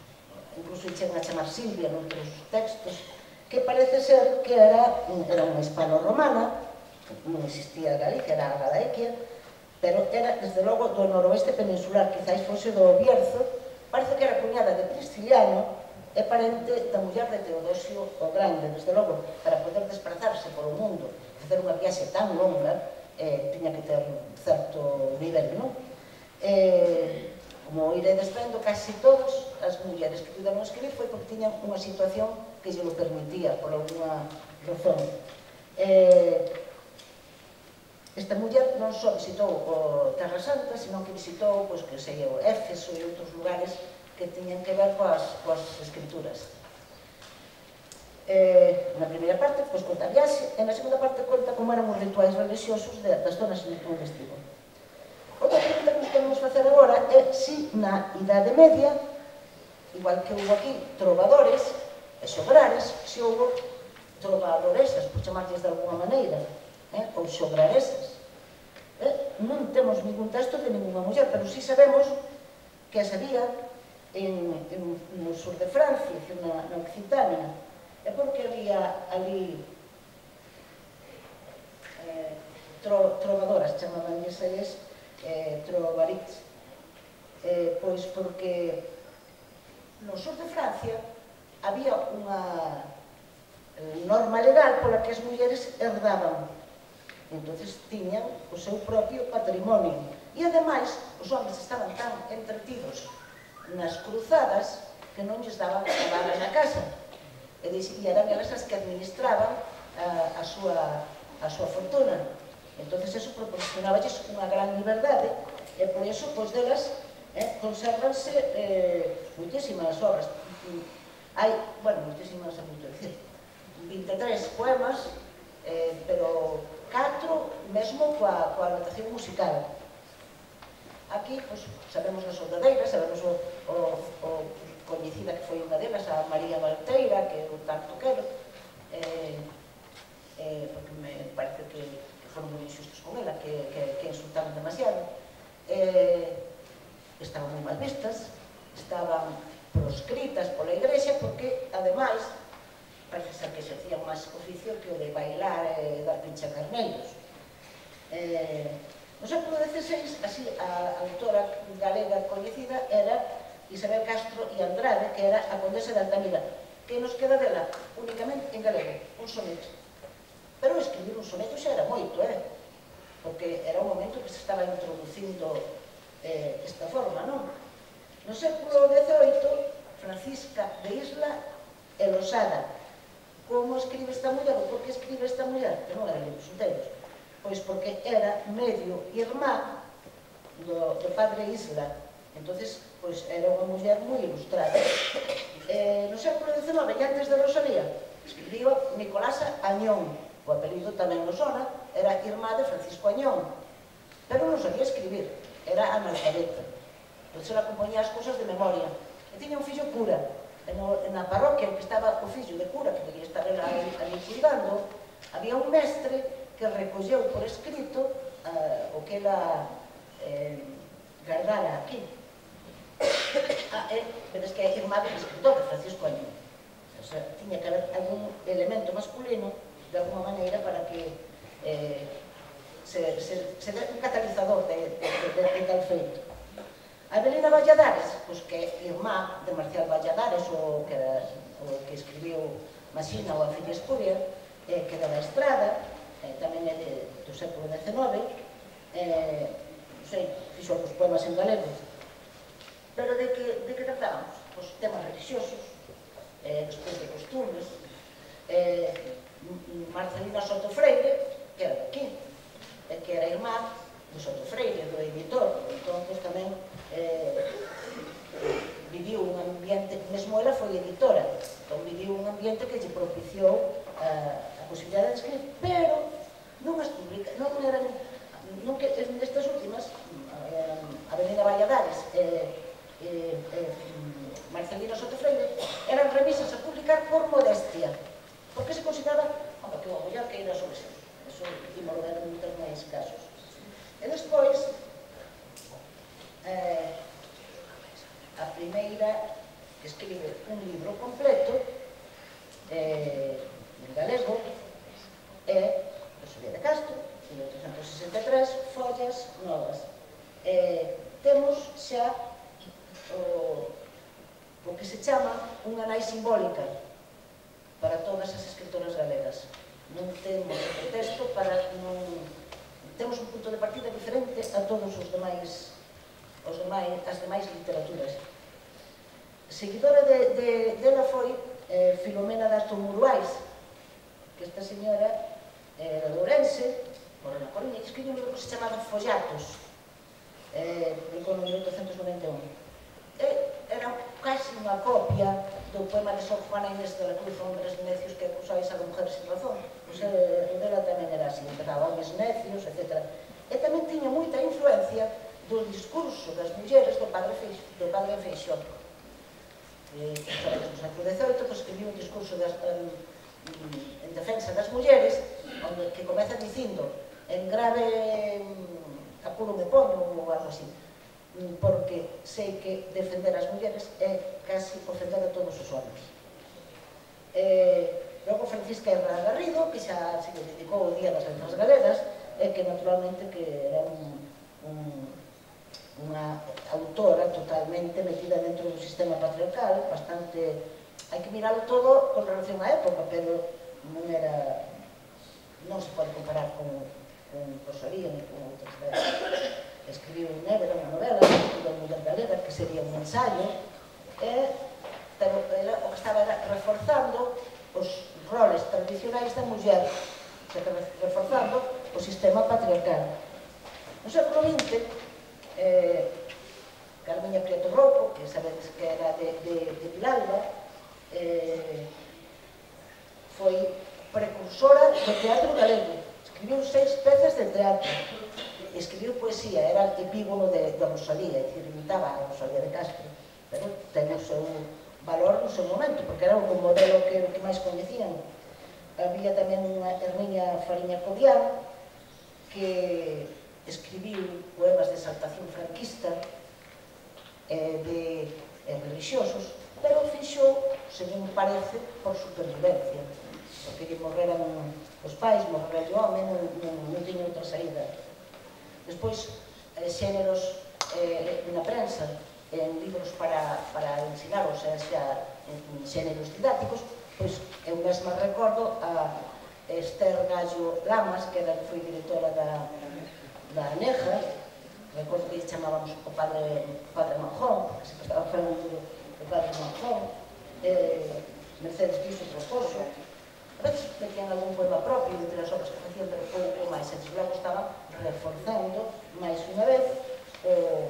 incluso chegan a chamar Silvia noutros textos, que parece ser que era unha hispano-romana, non existía Galicia, era a Galaequia, pero era, desde logo, do noroeste peninsular, quizáis fose do Bierzo, parece que era cuñada de Prisciliano, é parente da muller de Teodosio o Grande. Desde logo, para poder desplazarse polo mundo, facer unha viaxe tan longa, tiña que ter certo nivel, non? Como iredes vendo, casi todas as mulleres que puderon escribir foi porque tiñan unha situación que lle lo permitía, por alguna razón. Esta muller non só visitou o Terra Santa, senón que visitou, pois, que sei, o Éfeso e outros lugares que tiñan que ver coas escrituras. Na primeira parte, pois, conta a viaxe, e na segunda parte conta como eran os rituais religiosos das zonas onde estivo. Outra pregunta que nos podemos facer agora é se na Idade Media, igual que houve aquí trovadores e xograres, se houve trovadoresas, por chamarlles de alguma maneira, ou xograresas. Non temos ningún texto de ninguna muller, pero si sabemos que as había no sur de Francia, na Occitania. É porque había ali trovadoras, chamabanlles eles trovarits, pois porque no sur de Francia había unha norma legal pola que as mulleres herdaban, entonces tiñan o seu propio patrimonio, e ademais os homens estaban tan entretidos nas cruzadas que non lles daban nada na casa, e eran elas as que administraban a súa fortuna. Entonces eso proporcionaballes unha gran liberdade, e por iso, pois, delas consérvanse muitísimas obras. Hai, bueno, muitísimas, é moito dicir, vinte e tres poemas, pero catro mesmo coa anotación musical. Aquí, pois, sabemos a soldadeira, sabemos o coñecida que foi unha delas, a María Valteira, que eu tanto quero, porque me parece que foron moi injustos con ela, que insultaron demasiado. Estaban moi mal vistas, estaban proscritas pola Igrexa, porque, ademais, facían máis oficio que o de bailar e dar pincha carneiros. No século dezseis, así, a autora galega coñecida era Isabel Castro e Andrade, que era a condesa de Altamira, que nos queda dela únicamente en galego, un soneto. Pero escribir un soneto xa era moito, eh? Porque era un momento que se estaba introducindo eh, esta forma, non? No século dezoito, Francisca de Isla e Losada. Como escribe esta muller? Ou por que escribe esta muller? Que non eran libros inteiros. Pois porque era medio irmá do, do padre Isla. Entonces, pois era unha muller moi ilustrada. Eh, no século dezenove, e antes de Rosalía, escribiu Nicolasa Añón. O apelido tamén nos sona, era irmá de Francisco Añón. Pero non sabía escribir, era analfabeta. Entón, ela compoñía as cousas de memoria. E tiña un fillo cura. E no, na parroquia, que estaba o fillo de cura, que debía estar ali, ali cuidando, había un mestre que recolleu por escrito uh, o que ela eh, guardara aquí. Ah, eh, vedes que é irmá del escritor, de Francisco Añón. O sea, tiña que haber algún elemento masculino, de alguma maneira, para que eh, se, se, se dé un catalizador de, de, de, de tal feito. A Belina Valladares, pois que é irmá de Marcial Valladares, o que, era, o que escribiu Masina ou a Filla Escuria, eh, que era da Estrada, eh, tamén é de, do século dezenove, eh, non sei, fixo os poemas en galego. Pero de que, de que tratábamos? Pois temas religiosos, eh, despois de costumes, eh, Marcelina Soto Freire, que era daqui, eh, que era irmá de Soto Freire, do editor. Entón, pois tamén eh, viviu un ambiente, mesmo ela foi editora, entón viviu un ambiente que lle propiciou a, a posibilidade de escribir, pero non as publica, non eran, non que nestas últimas, a Avenida Valladares, eh, eh, eh, Marcelino Soto Freire, eran revisas a publicar por modestia, porque se consideraba, home, que o mellor que ir a sobreser. Eso imos ver en moitos máis casos. E despois, eh, a primeira que escribe un libro completo eh, en galego é Rosalía de Castro, mil oitocentos sesenta e tres, Follas Novas. Eh, temos xa o, o que se chama unha nai simbólica para todas as escritoras galegas. Non temos o pretexto para non... Temos un punto de partida diferente a todos os demais, os demais, as demais literaturas. Seguidora de, de, dela foi eh, Filomena das Tomuruais, que esta señora era de Ourense, morreu na Coruña, e escribiu un libro que se chamaba Follatos, eh, publicou no mil oitocentos noventa e un. E era casi unha copia do poema de Sor Juana Inés de la Cruz, Hombres necios que acusáis a la mujer sin razón. Pois o dela tamén era así, empezaba hombres necios, etcétera. E tamén tiña moita influencia do discurso das mulleres do padre Feixo, do padre Feixó. E, no século dezoito, pois, escribiu un discurso das, um, en defensa das mulleres, onde, que comeza dicindo en grave um, apuro me poño ou algo así, porque sei que defender as mulleres é casi ofender a todos os homens. Eh, logo Francisca Herrera Garrido, que xa se dedicou o Día das Letras Galegas, e que naturalmente que era un, un, unha autora totalmente metida dentro do sistema patriarcal, bastante... Hai que miralo todo con relación á época, pero non era... non se pode comparar con, con Rosalía ni con outras veces. Escribiu Nebra, unha novela, escribiu a Muller Galega, que sería un ensayo, e, pero ela, o que estaba era reforzando os roles tradicionais da muller, se que reforzando o sistema patriarcal. No século vinte, eh, Carmiña Prieto Rouco, que sabedes que era de, de, de Vilalba, eh, foi precursora do teatro galego. Escribiu seis pezas de teatro. Escribiu poesía, era el epígono de, de Rosalía, é dicir, imitaba a Rosalía de Castro, pero ten o seu valor no seu momento, porque era o modelo que, que máis coñecían. Había tamén unha Herminia Fariña Codián, que escribiu poemas de exaltación franquista, eh, de eh, religiosos, pero fixo, según parece, por supervivencia, porque que lle morreran os pais, morreran o home, non, non, non tiña outra saída. Despois, eh, xéneros eh, na prensa, en libros para, para ensinar, ou sea, xa, en xéneros didácticos, pois eu mesma recordo a Esther Gallo Lamas, que era, foi directora da, da Aneja, recordo que chamábamos o padre, o padre Manjón, que se estaba falando do, do padre Manjón, eh, Mercedes Piso Proposo, a veces metían algún poema propio entre as obras que facían, pero pouco máis, e logo estaban reforzando máis unha vez o,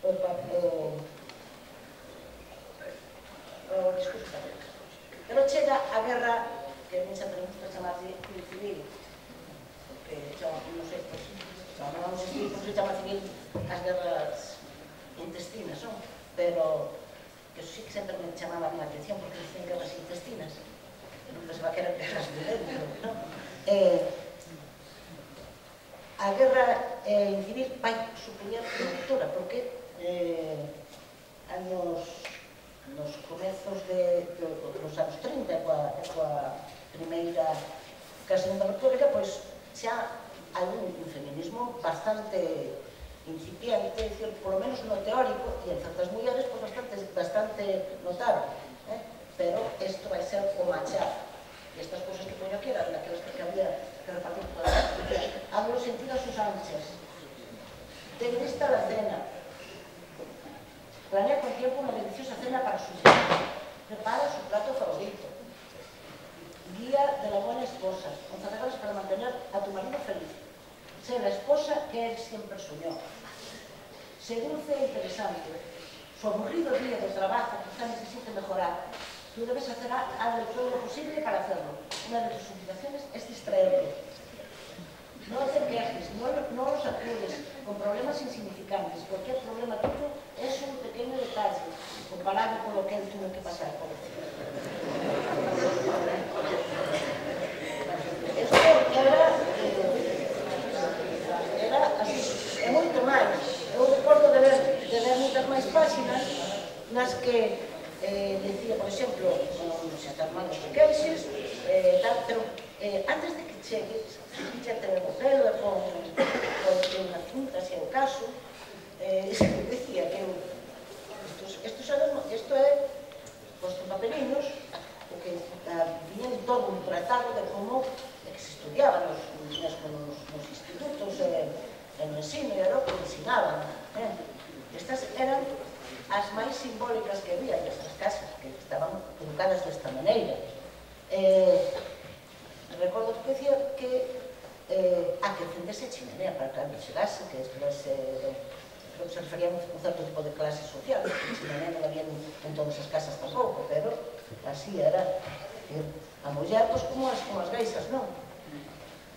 o, o, o discurso católico. Pero chega a guerra, que a mí xa tenemos que chamar de civil, porque xa, non sei, pues, xa non vamos a decir, non se chama civil as guerras intestinas, non? Pero que eso sí que sempre me chamaba a atención, porque dicen guerras intestinas, non pensaba que eran guerras de dentro, non? Eh, a guerra eh, civil vai supoñer unha ruptura, porque eh, anos nos comezos de, de, dos anos trinta, coa, coa primeira que a Segunda República, pois xa hai un feminismo bastante incipiente, é dicir, polo menos no teórico, e en certas mulleres, pois bastante, bastante notable, eh? Pero isto vai ser o machar. E estas cousas que poño aquí eran daquelas que había que repartir por la hablo sentido a sus anchas. Ten lista la cena. Planea con tiempo una deliciosa cena para sus hijos. Prepara su plato favorito. Guía de la buena esposa. Once reglas para mantener a tu marido feliz. Sé la esposa que él siempre soñó. Sé dulce e interesante. Su aburrido día de trabajo quizá necesite mejorar. Tú debes hacer algo todo lo posible para hacerlo. Una de tus obligaciones es distraerlo. No te quejes, no, no los acudes con problemas insignificantes. Cualquier problema tuyo es un pequeño detalle comparado con lo que él tuvo que pasar por él. Esto era, eh, era así, é moito máis. Eu recordo de ver, de ver moitas máis páxinas nas que eh, decía, por exemplo, non se atan malos de queixes, eh, tal, pero eh, antes de que chegues, xa te o pelo e pon unha cinta, se é o caso, eh, decía que eu, isto é, posto papeliños, porque viñen todo un tratado de como que se estudiaba nos, nos, nos institutos, eh, en o ensino, e era o que ensinaban. Eh. Estas eran as máis simbólicas que había nestas casas, que estaban colocadas desta maneira. Eh, recordo que decía que eh, a que encendese a chimenea para cando chegase, que despois eh, creo que se refería a un certo tipo de clase social, que a chimenea non había en todas as casas tampouco, pero así era. A muller, pois, como as, como as gaisas, non?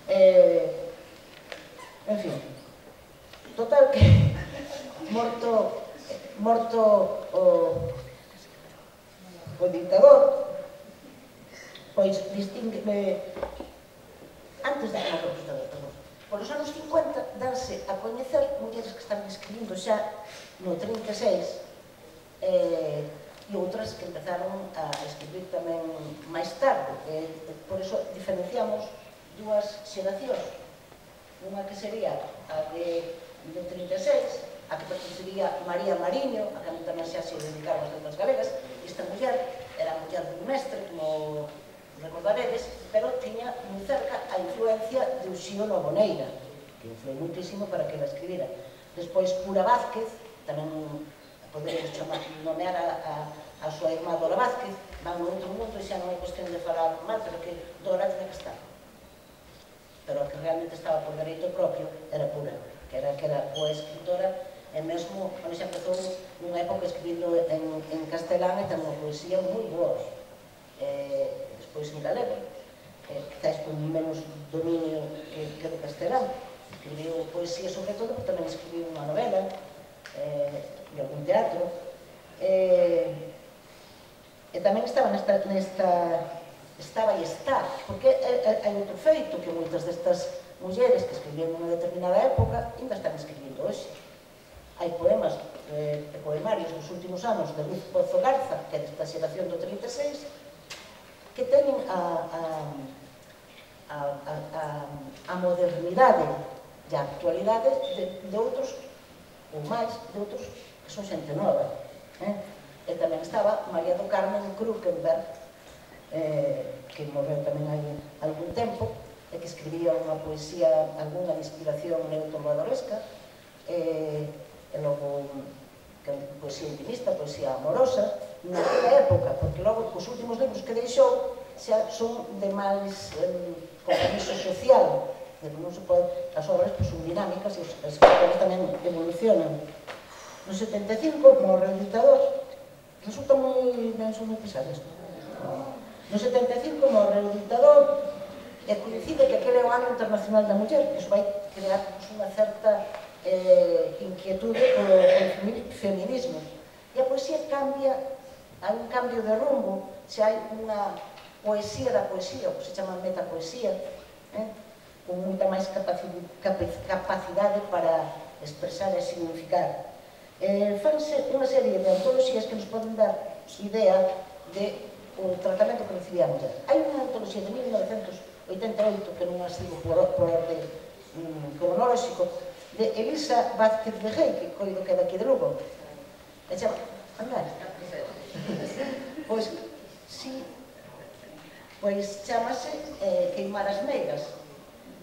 Eh, en fin, total que morto morto o, o dictador, pois distingue antes de que morto o dictador, perdón, por os anos cincuenta darse a coñecer mulleres que están escribindo xa no trinta e seis eh, e outras que empezaron a escribir tamén máis tarde. Eh, por iso diferenciamos dúas xeracións, unha que sería a de, de trinta e seis, a que pertencería María Mariño, a que tamén xa se dedicaron as letras galegas. Esta muller era a muller dun mestre, como recordaredes, pero tiña moi cerca a influencia de Uxío Noboneira, que influí muitísimo para que la escribira. Despois, Pura Vázquez, tamén poderíamos chamar, nomear a, a, a súa irmá Dora Vázquez, van no outro mundo e xa non hai cuestión de falar mal, pero que Dora tiña que estar. Pero a que realmente estaba por dereito propio era Pura, que era, que era boa escritora, e mesmo, bueno, xa empezou nunha época escribindo en, en castelán e ten unha poesía moi boa. Eh, despois en galego, eh, quizás con menos dominio que, que do castelán. Escribiu poesía sobre todo, pero tamén escribiu unha novela, eh, e algún teatro. Eh, e tamén estaba nesta, nesta estaba e está, porque hai outro feito que moitas destas mulleres que escribían nunha determinada época ainda están escribindo hoxe. Hai poemas e eh, poemarios dos últimos anos de Luz Pozo Garza, que é desta xeración do trinta e seis, que teñen a, a, a, a, a modernidade e a actualidade de, de outros, ou máis, de outros que son xente nova. Eh? E tamén estaba María do Carmen Krukenberg, eh, que morreu tamén hai algún tempo, e que escribía unha poesía, algunha inspiración neotrovadoresca, eh, e logo que poesía intimista, poesía amorosa, naquela época, porque logo os últimos libros que deixou xa son de máis eh, compromiso social, de non se pode, as obras pues, son dinámicas e as obras tamén evolucionan. No setenta e cinco, morre o dictador, resulta moi, ben son moi pesadas. No setenta e cinco morre o dictador e coincide que aquele é o ano internacional da muller, que iso vai crear pues, unha certa eh, inquietude polo, polo feminismo. E a poesía cambia, hai un cambio de rumbo, se hai unha poesía da poesía, o que se chama metapoesía, eh, con moita máis capacidade para expresar e significar. Eh, fanse unha serie de antoloxías que nos poden dar idea de o tratamento que recibía a muller. Hai unha antoloxía de mil novecentos oitenta e oito, que non as digo por, por orde mm, cronolóxico, de Elisa Vázquez de Rey, que coido que é daqui de Lugo. E chama, andar. Pois, si, pois chamase eh, Queimar as Meigas.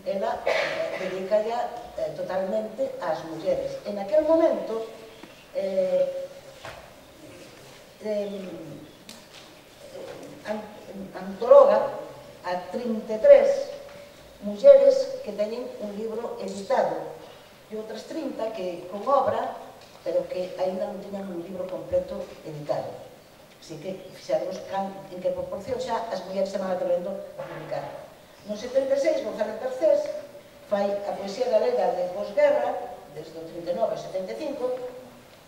Ela eh, dedica ya eh, totalmente ás mulleres. En aquel momento, eh, eh, antologa a trinta e tres mulleres que teñen un libro editado e outras trinta que con obra, pero que ainda non teñan un libro completo editado. Así que fixaremos en que proporción xa as mulleres se van atrevendo a publicar. No setenta e seis, González Garcés fai a poesía galega de posguerra, desde o trinta e nove ao setenta e cinco,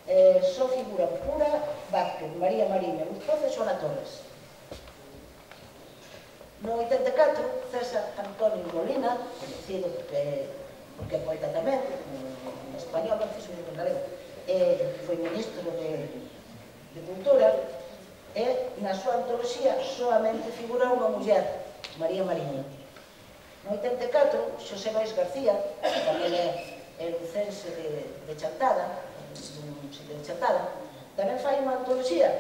eh, só figura Pura Vázquez, María Mariño, Luz Pozo e Xoana Torres. No oitenta e catro, César Antonio Molina, conhecido porque, porque é poeta tamén, en español, non fixo en galego, eh, foi ministro de, de Cultura, e na súa antoloxía solamente figura unha muller, María Mariño. No oitenta e catro, Xosé Lois García, que tamén é lucense de, de Chantada, de Chantada, tamén fai unha antoloxía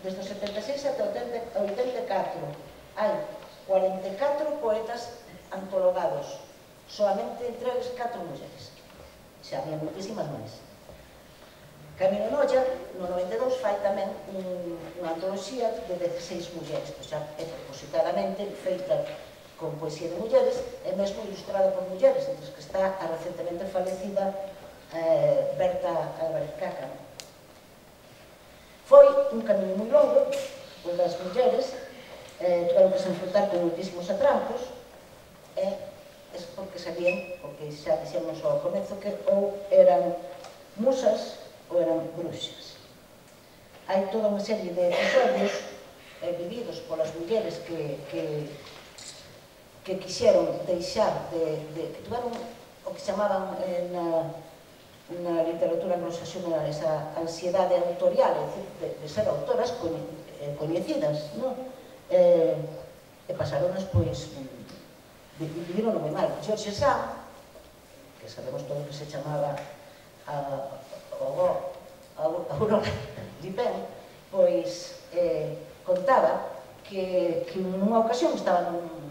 desde o setenta e seis até o oitenta e catro. Hai cuarenta e catro poetas antologados, solamente entre eles catro mulleres. Xa había moitísimas máis. Camilo Noia, no noventa e dous, fai tamén unha antoloxía de dezasseis mulleres, pois xa é propositadamente feita con poesía de mulleres e mesmo ilustrada por mulleres, entre as que está a recentemente falecida eh, Berta Álvarez Caca. Foi un camiño moi longo, onde as mulleres eh, tiveron que se enfrentar con muitísimos atrancos e é porque sabían, porque xa dixemos ao comezo, que ou eran musas ou eran bruxas. Hai toda unha serie de episodios eh, vividos polas mulleres que, que que quixeron deixar de, de que tuveron o que chamaban eh, na, na literatura anglosaxona esa ansiedade autorial, é dicir, de, de ser autoras coñe, eh, coñecidas, non? Eh, e pasaronas, pois, viviron moi mal. George Sand, que sabemos todo que se chamaba a, a, a Aurora Dupin, pois eh, contaba que, que nunha ocasión estaba nun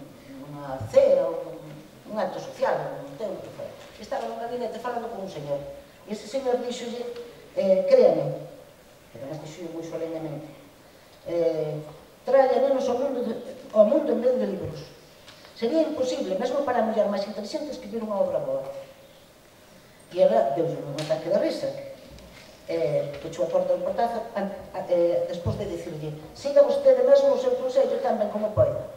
unha cea ou un acto social, un tempo que foi. Estaba nun gabinete falando con un señor. E ese señor dixolle, eh, créame, que además dixolle moi solemnemente, eh, traia nenos ao mundo, de, ao mundo en vez de libros. Sería imposible, mesmo para a muller máis inteligente, escribir unha obra boa. E ela deulle un ataque de risa. Eh, pechou a porta do portazo, eh, despois de dicirlle, siga vostede mesmo o seu consello tan ben como poida.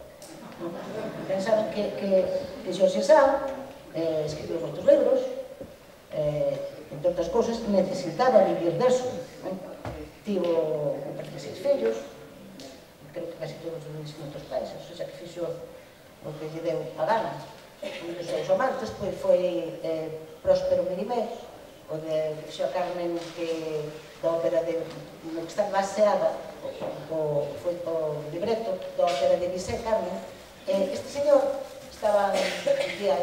Pensaban que, que, que Xorxe Sand eh, escribiu moitos libros, eh, entre outras cousas, necesitaba vivir deso. Eh? Tivo, me parece, seis fillos, creo que casi todos os moitos pais, ou seja, que fixo o que lle deu a gana. Un dos seus amantes pois, foi eh, Próspero Mérimée, o de fixo a Carmen que, da ópera de, no que está baseada o, foi o libreto da ópera de Bizet, Carmen. Eh, este señor estaba un día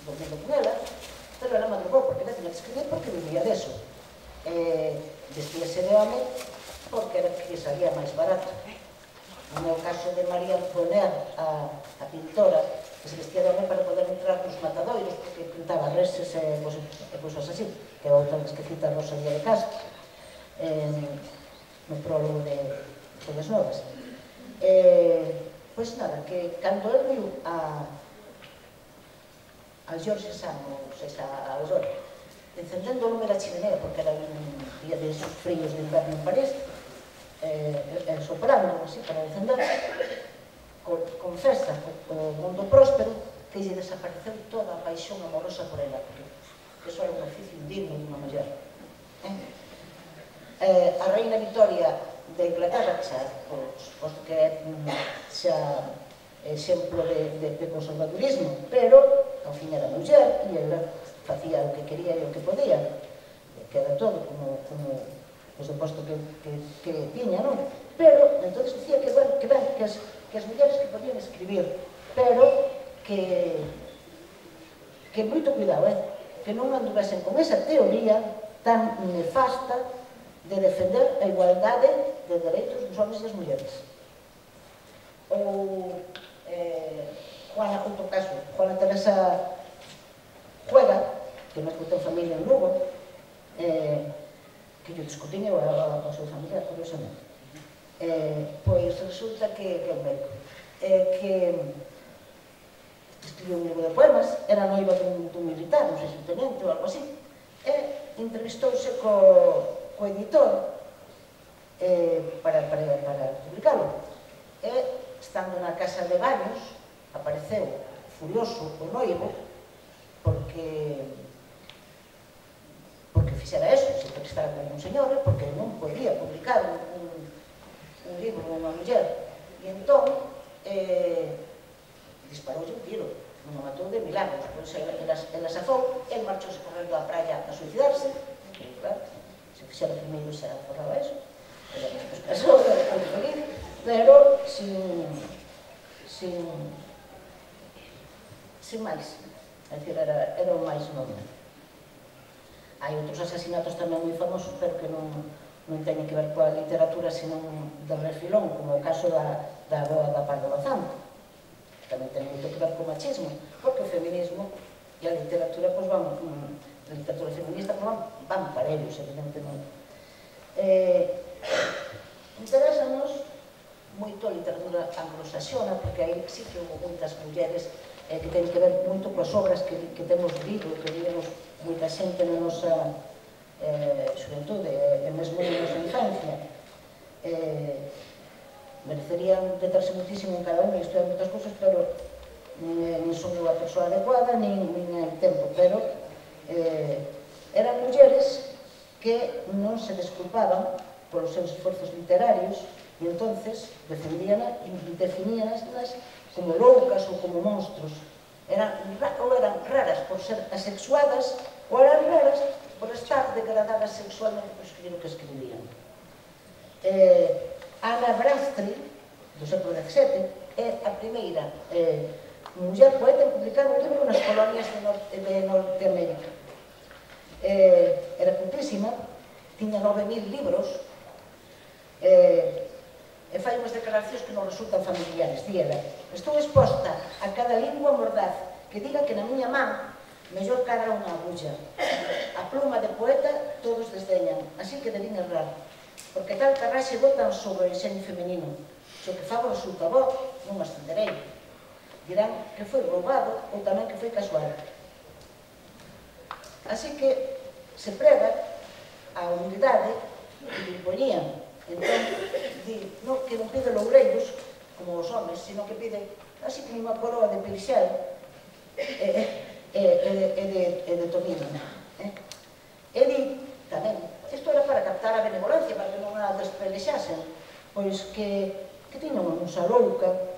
dormindo con ela, pero ela madrugou porque ela tiña que escribir porque vivía deso. Eh, vestíase de home porque era que salía máis barato. No meu caso de María Antoinette, a, a pintora, que se vestía de home para poder entrar nos matadoiros, porque pintaba reses e cosas así, que é outra vez que cita Rosalía de Castro, eh, no prólogo de Todas Novas. Eh, pois nada, que cando el viu a, a George Sand, ou seja, a Aurora, encendendo o lume da chimenea, porque era un día de esos fríos de inverno en París, eh, eh, soprando así para encender, con, confesa o mundo próspero que lle desapareceu toda a paixón amorosa por ela, porque eso era un oficio indigno de unha muller. Eh? Eh, a reina Victoria de Inglaterra, que xa, pois, pois que é xa exemplo de, de, de conservadurismo, pero ao fin era muller e ela facía o que quería e o que podía, que era todo como, como pues, o posto que, que, que tiña, non? Pero, entón, dicía que, bueno, que, ben, que, as, que as mulleres que podían escribir, pero que, que moito cuidado, eh? Que non anduvesen con esa teoría tan nefasta de defender a igualdade de dereitos dos homens e as mulleres. Ou, eh, Juana, outro caso, Juana Teresa Juega, que non ten familia en Lugo, eh, que yo discutín eu a súa familia, curiosamente. Eh, pois resulta que, que é un médico, eh, que escribiu un libro de poemas, era noiva dun, dun militar, non sei se un tenente ou algo así, e entrevistouse co, co editor eh, para, para, para publicalo. E, estando na casa de baños, apareceu furioso o noivo, porque porque fixera eso, se porque estaba con un señor, porque non podía publicar un, un, un libro dunha muller. E entón, eh, disparoulle un tiro, non o matou de milagros, pois ela, ela, ela safou, el marchouse correndo á praia a suicidarse, que, claro, se fixera primeiro se aforraba eso, ela despois casou, era moi feliz, pero sin, sin, sin máis, é dicir, era, era o máis normal. Hai outros asasinatos tamén moi famosos, pero que non, non teñen que ver coa literatura, senón de refilón, como o caso da, da boa da Pardo Bazán, que tamén ten moito que ver co machismo, porque o feminismo e a literatura, pois van, a literatura feminista, pois van, van para ellos, evidentemente. Eh, Interesanos moito a literatura anglosaxona, porque aí sí que houve moitas mulleres eh, que ten que ver moito coas obras que, que temos lido, que vimos moita xente na nosa eh, xuventude e mesmo na nosa infancia. Eh, merecerían detarse muitísimo en cada unha e estudiar moitas cousas, pero nin, nin son a persoa adecuada, nin, nin hai tempo, pero eh, eran mulleres que non se desculpaban polos seus esforzos literarios e entonces defendíanas e definíanas como loucas ou como monstros. Eran, ou eran raras por ser asexuadas ou eran raras por estar degradadas sexualmente por escribir o que escribían. Eh, Ana Bradstreet, do século dezasete, é a primeira eh, muller poeta en publicar un libro nas colonias de, Nor de Norteamérica. Eh, era cultísima, tiña nove mil libros, eh, e fai unhas declaracións que non resultan familiares. Di ela: estou exposta a cada lingua mordaz que diga que na miña man mellor cara unha agulla. A pluma de poeta todos desdeñan, así que debín errar, porque tal carraxe botan sobre o enxeño femenino. Se o que fago resulta bo, non ascenderei. Dirán que foi roubado ou tamén que foi casual. Así que se prega a humildade que lhe impoñían. Entón, di, non, que non pide loureiros, como os homes, sino que pide así como unha coroa de pelixel e, e, e, e, de, e de tomino. Eh? E di, tamén, isto era para captar a benevolencia, para que non a despelexasen, pois que, que tiña unha musa louca,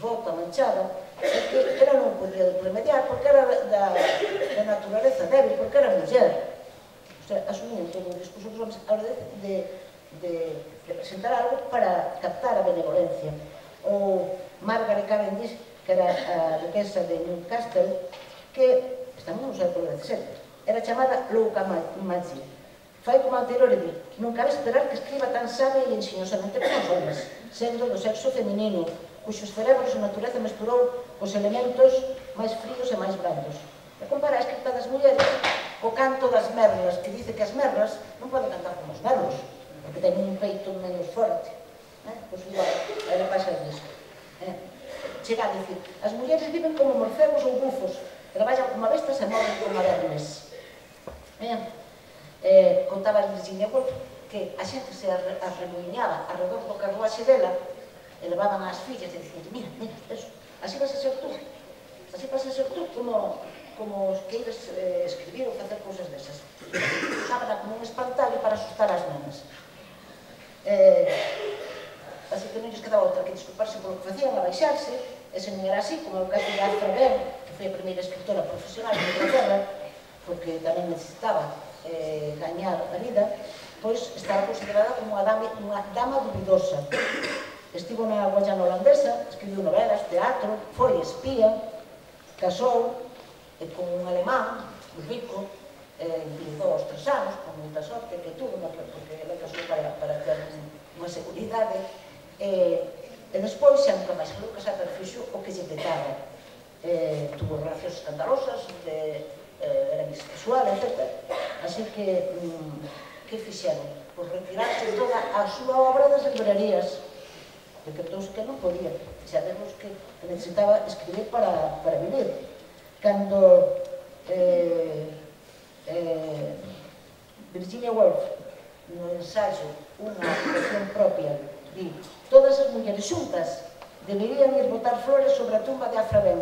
bota manchada, e que ela non podía remediar porque era da, da naturaleza débil, porque era muller. O sea, asumían todo o discurso dos homens a hora de, de de, de presentar algo para captar a benevolencia. Ou Margaret Cavendish, que era a duquesa de Newcastle, que estamos no século dezasete, era chamada Louca Maggi. Fai como anterior e di, non cabe esperar que escriba tan sabe e enxeñosamente como os homens, sendo do sexo feminino, cuxos cerebros a natureza mesturou os elementos máis fríos e máis brandos. E compara a escrita das mulleres co canto das merlas, que dice que as merlas non poden cantar como os merlos, porque teñen un peito menos forte. Eh? Pois igual, era pasa disso. Eh? Chega a dicir, as mulleres viven como morcegos ou bufos, traballan como bestas e morren como vermes. Eh? Eh, contaba a Virginia Woolf que a xente se arremoinaba alrededor do carruaxe dela e levaban as fillas e dicían, mira, mira, eso, así vas a ser tú, así vas a ser tú como, como os que ibas eh, escribir ou facer cousas desas. Usábana como un espantallo para asustar as nenas. Eh, así que non lles quedaba outra que disculparse polo que facían, abaixarse, e se non era así, como o caso de Arthur Ben, que foi a primeira escritora profesional de Inglaterra, porque tamén necesitaba eh, gañar a vida, pois estaba considerada como unha dama, unha dama dubidosa. Estivo na Guayana holandesa, escribiu novelas, teatro, foi espía, casou eh, con un alemán, un rico, eh, enviudou aos tres anos, con moita sorte que tuvo, porque ele casou para, para ter unha seguridade, eh, e despois xa nunca máis falou, casar para fixo o que lle petaba. Eh, tuvo relacións escandalosas, de, eh, era bisexual, etcétera. Así que, mm, que fixeron? Pois retirarse toda a súa obra das librerías, decretouse que non podía. Xa vemos que necesitaba escribir para, para vivir. Cando eh, eh, Virginia Woolf, no ensayo Unha habitación propia, di, todas as mulleres xuntas deberían ir botar flores sobre a tumba de Afra Ben,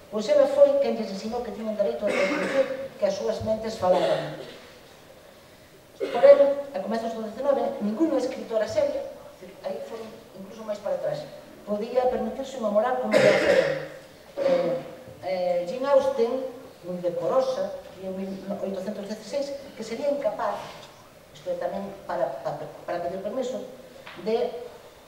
pois ela foi quen lles ensinou que tiñen dereito a reconocer que as súas mentes falaban. Por ele, a comezos do dezenove, ninguna escritora seria, aí foron incluso máis para atrás, podía permitirse unha moral como a de Afra Ben. Eh, eh, Jane Austen, moi decorosa, en mil oitocentos dieciséis, que sería incapaz, isto é tamén para, para, para pedir permiso, de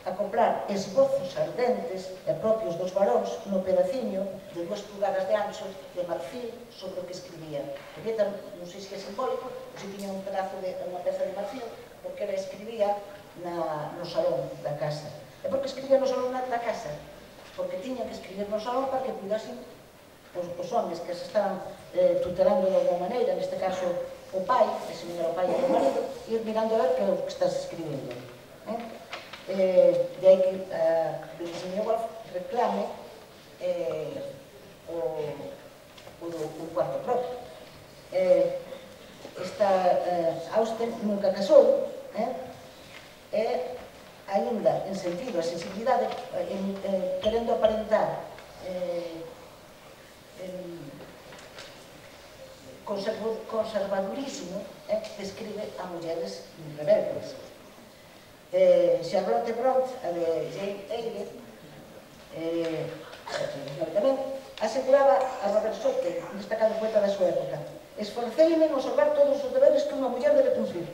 acoplar esbozos ardentes e propios dos varóns no pedaciño de dúas pulgadas de ancho de marfil sobre o que escribía. Porque non sei se é simbólico, ou se tiña un pedazo de unha peza de marfil, porque ela escribía na, no salón da casa. E por que escribía no salón da casa? Porque tiña que escribir no salón para que cuidasen os, os homens que se estaban eh, tutelando de alguma maneira, neste caso o pai, que se non era o pai e o marido, ir mirando a ver que é o que estás escribindo. Eh? Eh, de aí que a uh, Virginia Woolf reclame eh, o, o, o cuarto propio. Eh, esta uh, Austen nunca casou, eh? e ainda en sentido a sensibilidade, en, eh, querendo aparentar eh, en, conservadurismo, eh, describe a mulleres rebeldes. Eh, Charlotte Brontë, a de Jane Eyre, eh, tamén aseguraba a Robert Sotte, un destacado poeta da súa época, esforceime en observar todos os deberes que unha muller debe cumplir,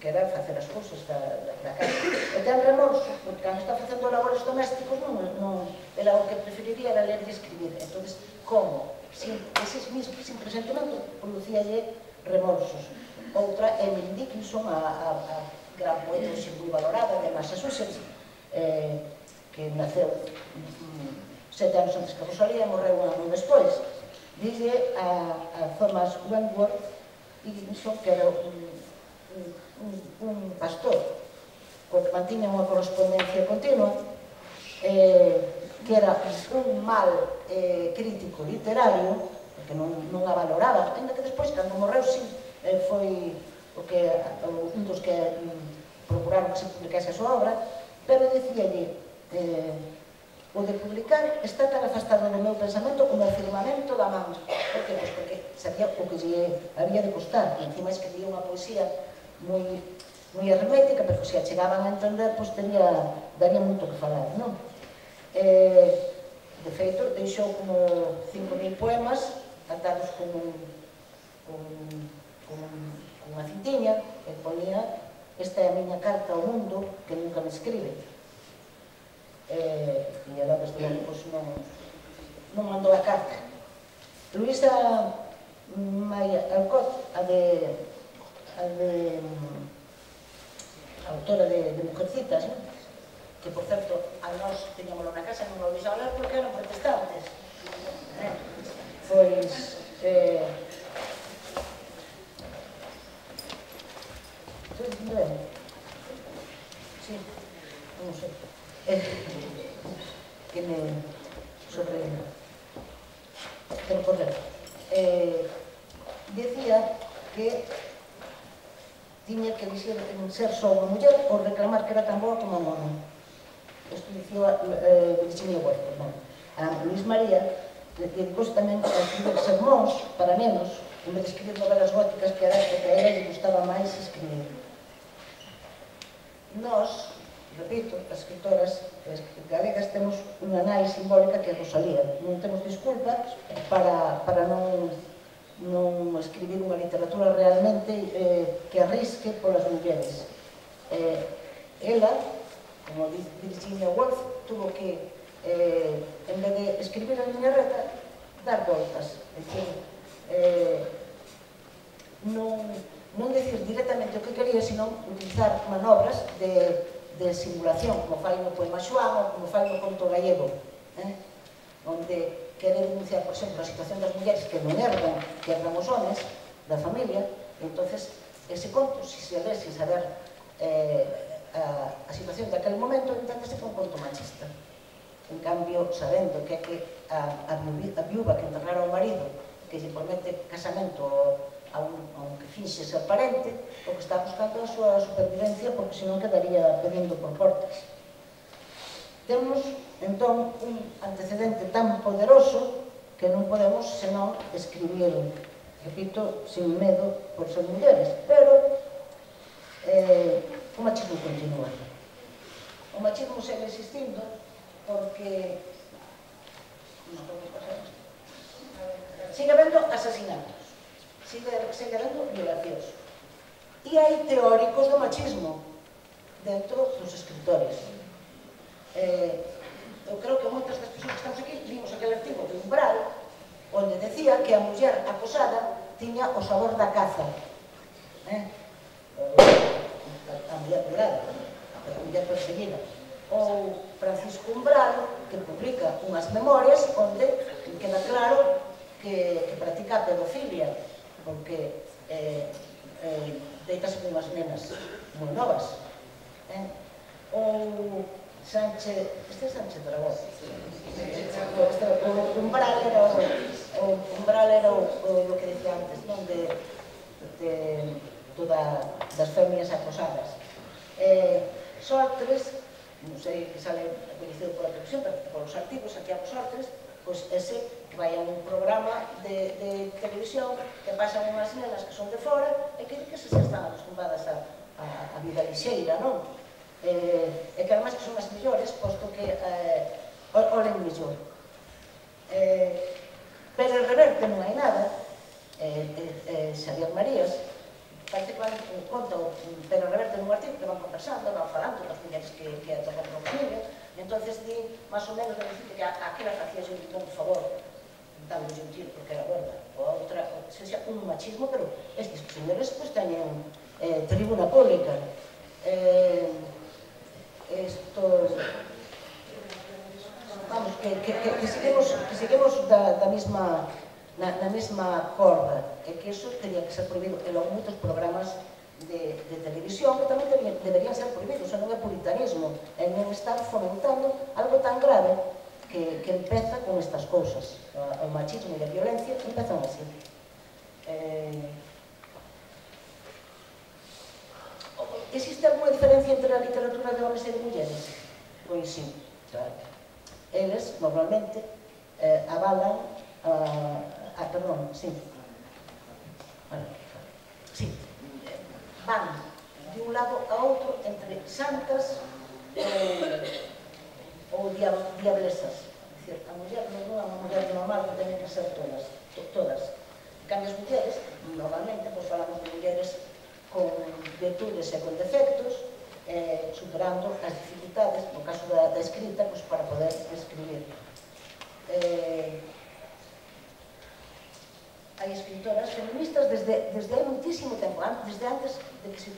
que era facer as cousas da, da, da casa. E ten remorso, porque cando está facendo labores domésticos, non, non, era o que preferiría era ler e escribir. Entón, como? Sin, ese mismo, sin presentimento, producíalle remorsos. Outra, Emily Dickinson, a, a, a gran poeta moi valorada de Massachusetts, eh, que naceu mm, sete anos antes que Rosalía, morreu un ano despois. Dille a, a Thomas Wentworth Dickinson, que era un, un, un pastor, co que mantiña unha correspondencia continua, eh, que era un mal eh, crítico literario, porque non, non a valoraba, ainda que despois, cando morreu, sí, eh, foi o que, un dos que mm, procuraron que se publicase a súa obra, pero dicíalle, eh, o de publicar está tan afastado do meu pensamento como o firmamento da man. Por que? Pois porque sabía o que lle había de costar, e encima escribía unha poesía moi, moi hermética, pero se a chegaban a entender, pois tería, daría moito que falar, non? Eh, de feito, deixou como cinco mil poemas atados con, un, con, con, con unha cintiña que ponía esta é a miña carta ao mundo que nunca me escribe. E ela, desde logo, non mandou a carta. Luisa Maia Alcott, a de a de a autora de Mujercitas, que, por certo, a nós teñámoslo na casa, non lo deixaba ler porque eran protestantes. Pois, eh, ben, sí, non sei, que me sobre pero correr. Eh, decía que tiña que dicir ser só unha muller ou reclamar que era tan boa como un home. Isto dicía eh, Virginia Woolf, non? A Luis María dedicou tamén a escribir sermóns para nenos, en vez de escribir novelas góticas que era que a ela lle gustaba máis escribir. Nós, repito, as escritoras galegas temos unha nai simbólica que é Rosalía. Non temos disculpa para, para non, non escribir unha literatura realmente eh, que arrisque polas mulleres. Eh, ela, como dice Virginia Woolf, tuvo que, eh, en vez de escribir a liña reta, dar voltas. É dicir, eh, non, non decir directamente o que quería, sino utilizar manobras de, de simulación, como fai no poema Xoán ou como fai no conto gallego, eh? Onde quere denunciar, por exemplo, a situación das mulleres que non herdan, que herdan os homes da familia, e entonces ese conto, se se lê sin saber eh, a, a situación daquele momento, enténdese que é un conto machista. En cambio, sabendo que é que a, a, a viúva que enterrara ao marido, que lle promete casamento a un, a un que finxe ser parente, o que está buscando a súa supervivencia, porque senón quedaría pedindo por portas. Temos, entón, un antecedente tan poderoso que non podemos senón escribir, repito, sin medo por ser mulleres, pero eh, o machismo continúa. O machismo segue existindo porque sigue habendo asasinatos, sigue, sigue habendo violacións. E hai teóricos do machismo dentro dos escritores. Eh, eu creo que moitas das persoas que estamos aquí vimos aquele artigo de Umbral onde decía que a muller acosada tiña o sabor da caza, eh? a muller violada, a muller perseguida. Ou Francisco Umbral, que publica unhas memorias onde queda claro que, que practica a pedofilia, porque eh, eh, deitase con unhas nenas moi novas. Eh? Ou Sánchez, este é Sánchez Dragón. O Umbral era o, o Umbral era o, o, o que decía antes, non? De, de, toda, das femias acosadas. Eh, Sortres, non sei que sale coñecido pola televisión, pero polos artigos, aquí a Sortres, pois ese que vai a un programa de, de televisión que pasan unhas nenas que son de fora e que, que se están acostumbradas a, a, a vida lixeira, non? Eh, e que además que son as mellores, posto que eh, olen mellor. Eh, pero en Reverte non hai nada. Eh, eh, eh, Xavier Marías parece que van, conta o Pedro Reverte nun artigo que van conversando, van falando das mulleres que, que atocan con familia, e entonces di, máis ou menos, de decir que aquela facía un bon favor dando un tiro porque era gorda, ou a outra, ou seja, un machismo, pero estes señores pues teñen eh, tribuna pública. Eh, estos vamos, que, que, que, que seguimos, que seguimos da, da mesma na, na mesma corda, e que iso teria que ser prohibido, e logo moitos programas de, de televisión que tamén deberían, deberían ser prohibidos, e non é puritanismo, e non estar fomentando algo tan grave que, que empeza con estas cousas. O machismo e a violencia empezan así. Eh, Existe alguna diferencia entre a literatura de homens e de mulleres? Pois sí, claro. Eles, normalmente, eh, avalan a... Ah, perdón, sí. Bueno, sí. Van de un lado a outro entre santas eh, ou diablesas. É dicir, a muller non é unha muller normal que teñen que ser todas. todas. En cambio, as mulleres, normalmente, pois falamos de mulleres con virtudes e con defectos, eh, superando as dificultades, no caso da, da escrita, pues, para poder escribir. Eh, hai escritoras feministas desde, desde hai muitísimo tempo, desde antes de que se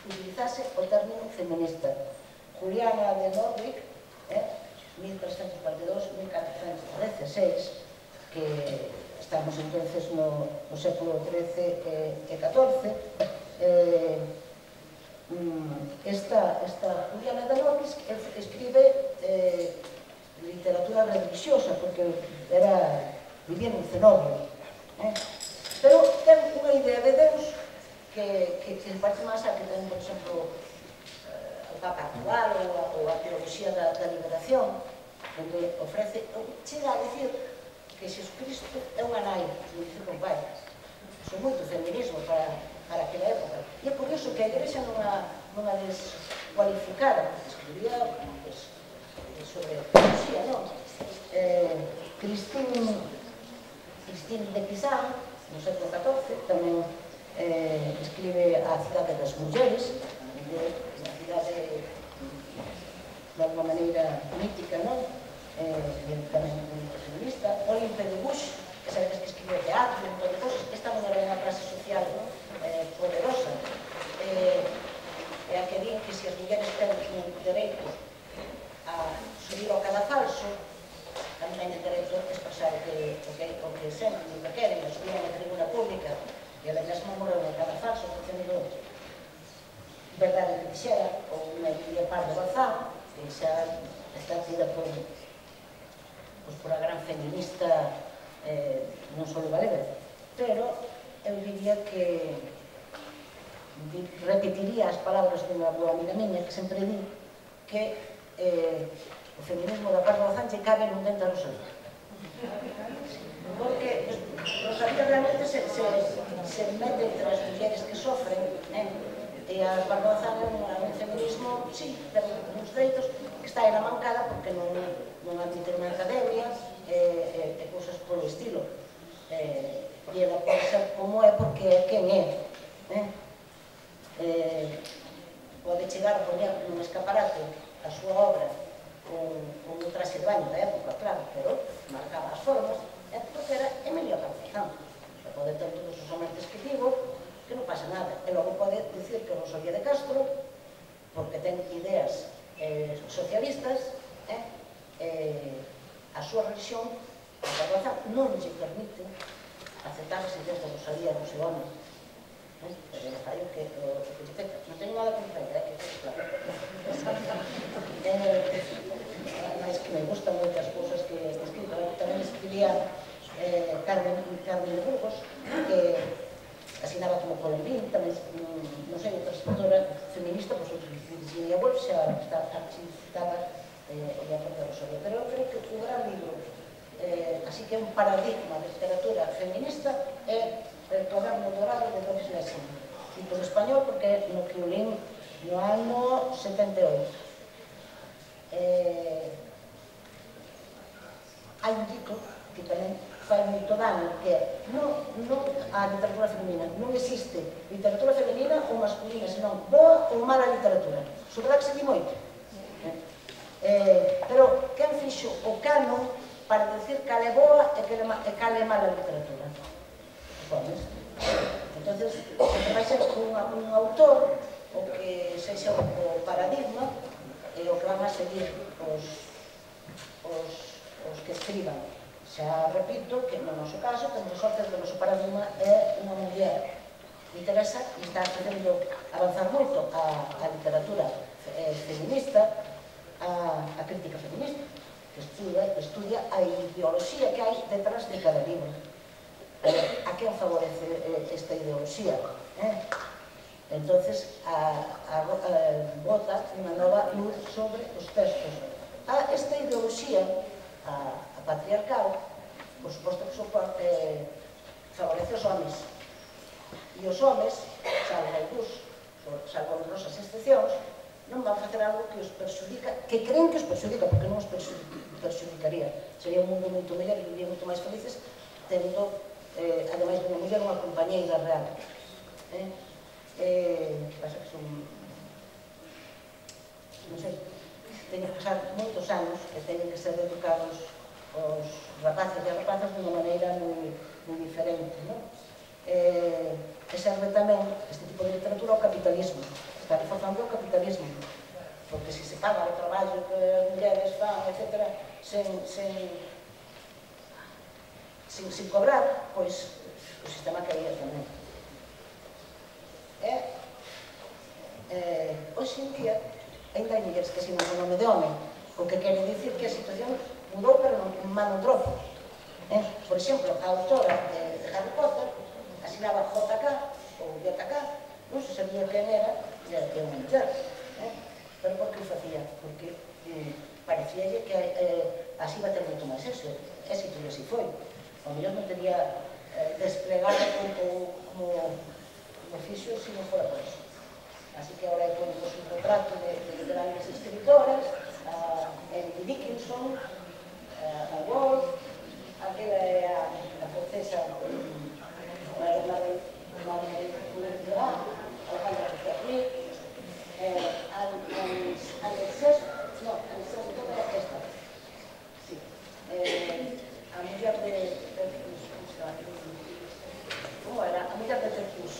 utilizase o término feminista. Juliana de Norwich, eh, mil trescentos cuarenta e dous a mil catrocentos dieciséis, que estamos entonces no, no século trece e catorce, eh, esta, esta Juliana de Norwich escribe eh, literatura religiosa, porque era, vivía nun cenobio, eh? Pero ten unha idea de Deus que, que, que parte máis a que ten, por exemplo, o Papa actual ou a, ou a teoloxía da, da liberación, onde ofrece, chega a decir que Xesucristo é unha nai, como dice con pai. Iso é moito feminismo para, para aquela época. E é por iso que a Igrexa non a, non a descualificara, escribía pues, sobre teoloxía, non? Eh, Christine, Christine de Pizarro, no século catorce, tamén eh, escribe A cidade das mulleres, unha cidade de alguma maneira mítica, non? Eh, tamén un feminista. Olympe de Gouges, que sabedes que escribe teatro, un montón de cosas, esta non era unha clase social, non? Eh, poderosa. Eh, e a que din que se as mulleres ten un dereito a subir ao cadafalso, tamén hai dereito a expresar o que, o que, o que senten, o que queren, a subir a unha tribuna pública, e a mesma morreu no cadafalso, facendo verdade que dixera, ou unha Emilia Pardo Bazán, que xa está tida por, pues, por a gran feminista eh, non só galega, pero eu diría que repetiría as palabras dunha boa amiga miña que sempre di que eh, o feminismo da Pardo Bazán lle cabe nun dente a Rosalía, porque Rosalía realmente se, se, se mete entre as mulleres que sofren, eh? E a Pardo Bazán é un feminismo, sí, ten uns dereitos que está aí na mancada porque non, non admite unha academia e, e, e cousas polo estilo. Eh, e ela pode ser como é porque é quen é. Eh? Eh, pode chegar a poner nun escaparate a súa obra con, con un traxe de baño da época, claro, pero marcaba as formas, é porque era Emilio Campuzano. Se pode ter todos os amantes que digo, que non pasa nada. E logo pode dicir que Rosalía de Castro, porque ten ideas eh, socialistas, eh, eh, a súa religión, a Carbaza, non lle permite aceptar as ideas de Rosalía no seu home. Eh, pero non fai o que o que lle peta. Non teño nada contra ela, eh, que é claro. Eh, máis que me gustan moitas cousas que escrito. Tamén escribía eh, Carmen, Carmen de Burgos, que asinaba como Colombín, tamén, non sei, outra escritora feminista, pois outra Virginia Woolf xa está citada eh, o de Aporta Rosalía. Pero eu creo que o gran libro, eh, así que é un paradigma de literatura feminista, é El Cuaderno Dorado de Doris Lessing. Cito en español porque no que o lín no ano setenta e oito. Eh, hai un título que tamén fai moito dano, que non, non a literatura femenina. Non existe literatura femenina ou masculina, senón boa ou mala literatura. Sobre que se di moito. Eh, pero quen fixo o canon para decir cal é boa e cal é mala literatura? Os homes. Entonces, se vai ser un, un autor o que sexa o paradigma e o que van a seguir os, os, os que escriban. Xa repito que no noso caso temos a sorte que o noso paradigma é unha muller que interesa e está facendo avanzar moito a, a literatura eh, feminista, a, a crítica feminista, que estudia, que estudia a ideoloxía que hai detrás de cada libro. Eh, a quen favorece eh, esta ideoloxía? Eh? Entonces, a, a, a, bota unha nova luz sobre os textos. A esta ideoloxía, a, a patriarcal, por suposto que soporte, eh, favorece os homes. E os homes, salvo algúns, salvo honrosas excepcións, non van facer algo que os perxudica, que creen que os perxudica, porque non os perxudicaría. Sería un mundo moito mellor e vivían moito máis felices, tendo, eh, ademais dunha muller, unha compañeira real. Eh? E pasa que son, non sei, teñen que pasar moitos anos que teñen que ser educados os rapaces e as rapazas de unha maneira moi diferente, non? E serve tamén este tipo de literatura ao capitalismo, está reforzando o capitalismo, porque se se paga o traballo que as mulleres fan, etcétera, sen sin cobrar, pois o sistema caía tamén. E hoxe en día ainda hai mulleres que asinan o nome de home, o que quere dicir que a situación mudou, pero non mano tropo. Por exemplo, a autora de Harry Potter asinaba J K ou J K, non se sabía quen era, e era unha muller. Pero por que o facía? Porque parecíalle que así iba a ter moito máis éxito, e así foi. O mellor non teria desplegado como oficio se non fora por eso. Así que agora ponemos un retrato de grandes escritoras, a Emily Dickinson, a Woolf, aquela é a francesa Marie Curie-Durand, Alejandra Pizarnik, Alexés, non, Alexés de toda esta, sí, a muller de, como era? A muller de Tercus.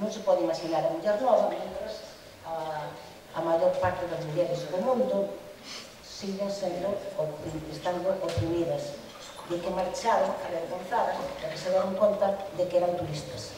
Non se pode imaginar a muller nova, mentras a maior parte das mulleres do mundo siguen sendo, estando oprimidas, de que marcharon avergonzadas e que se deron conta de que eran turistas.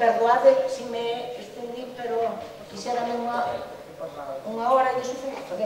perdoade se me estendí, pero quixérame unha unha hora e de sufrir, ok?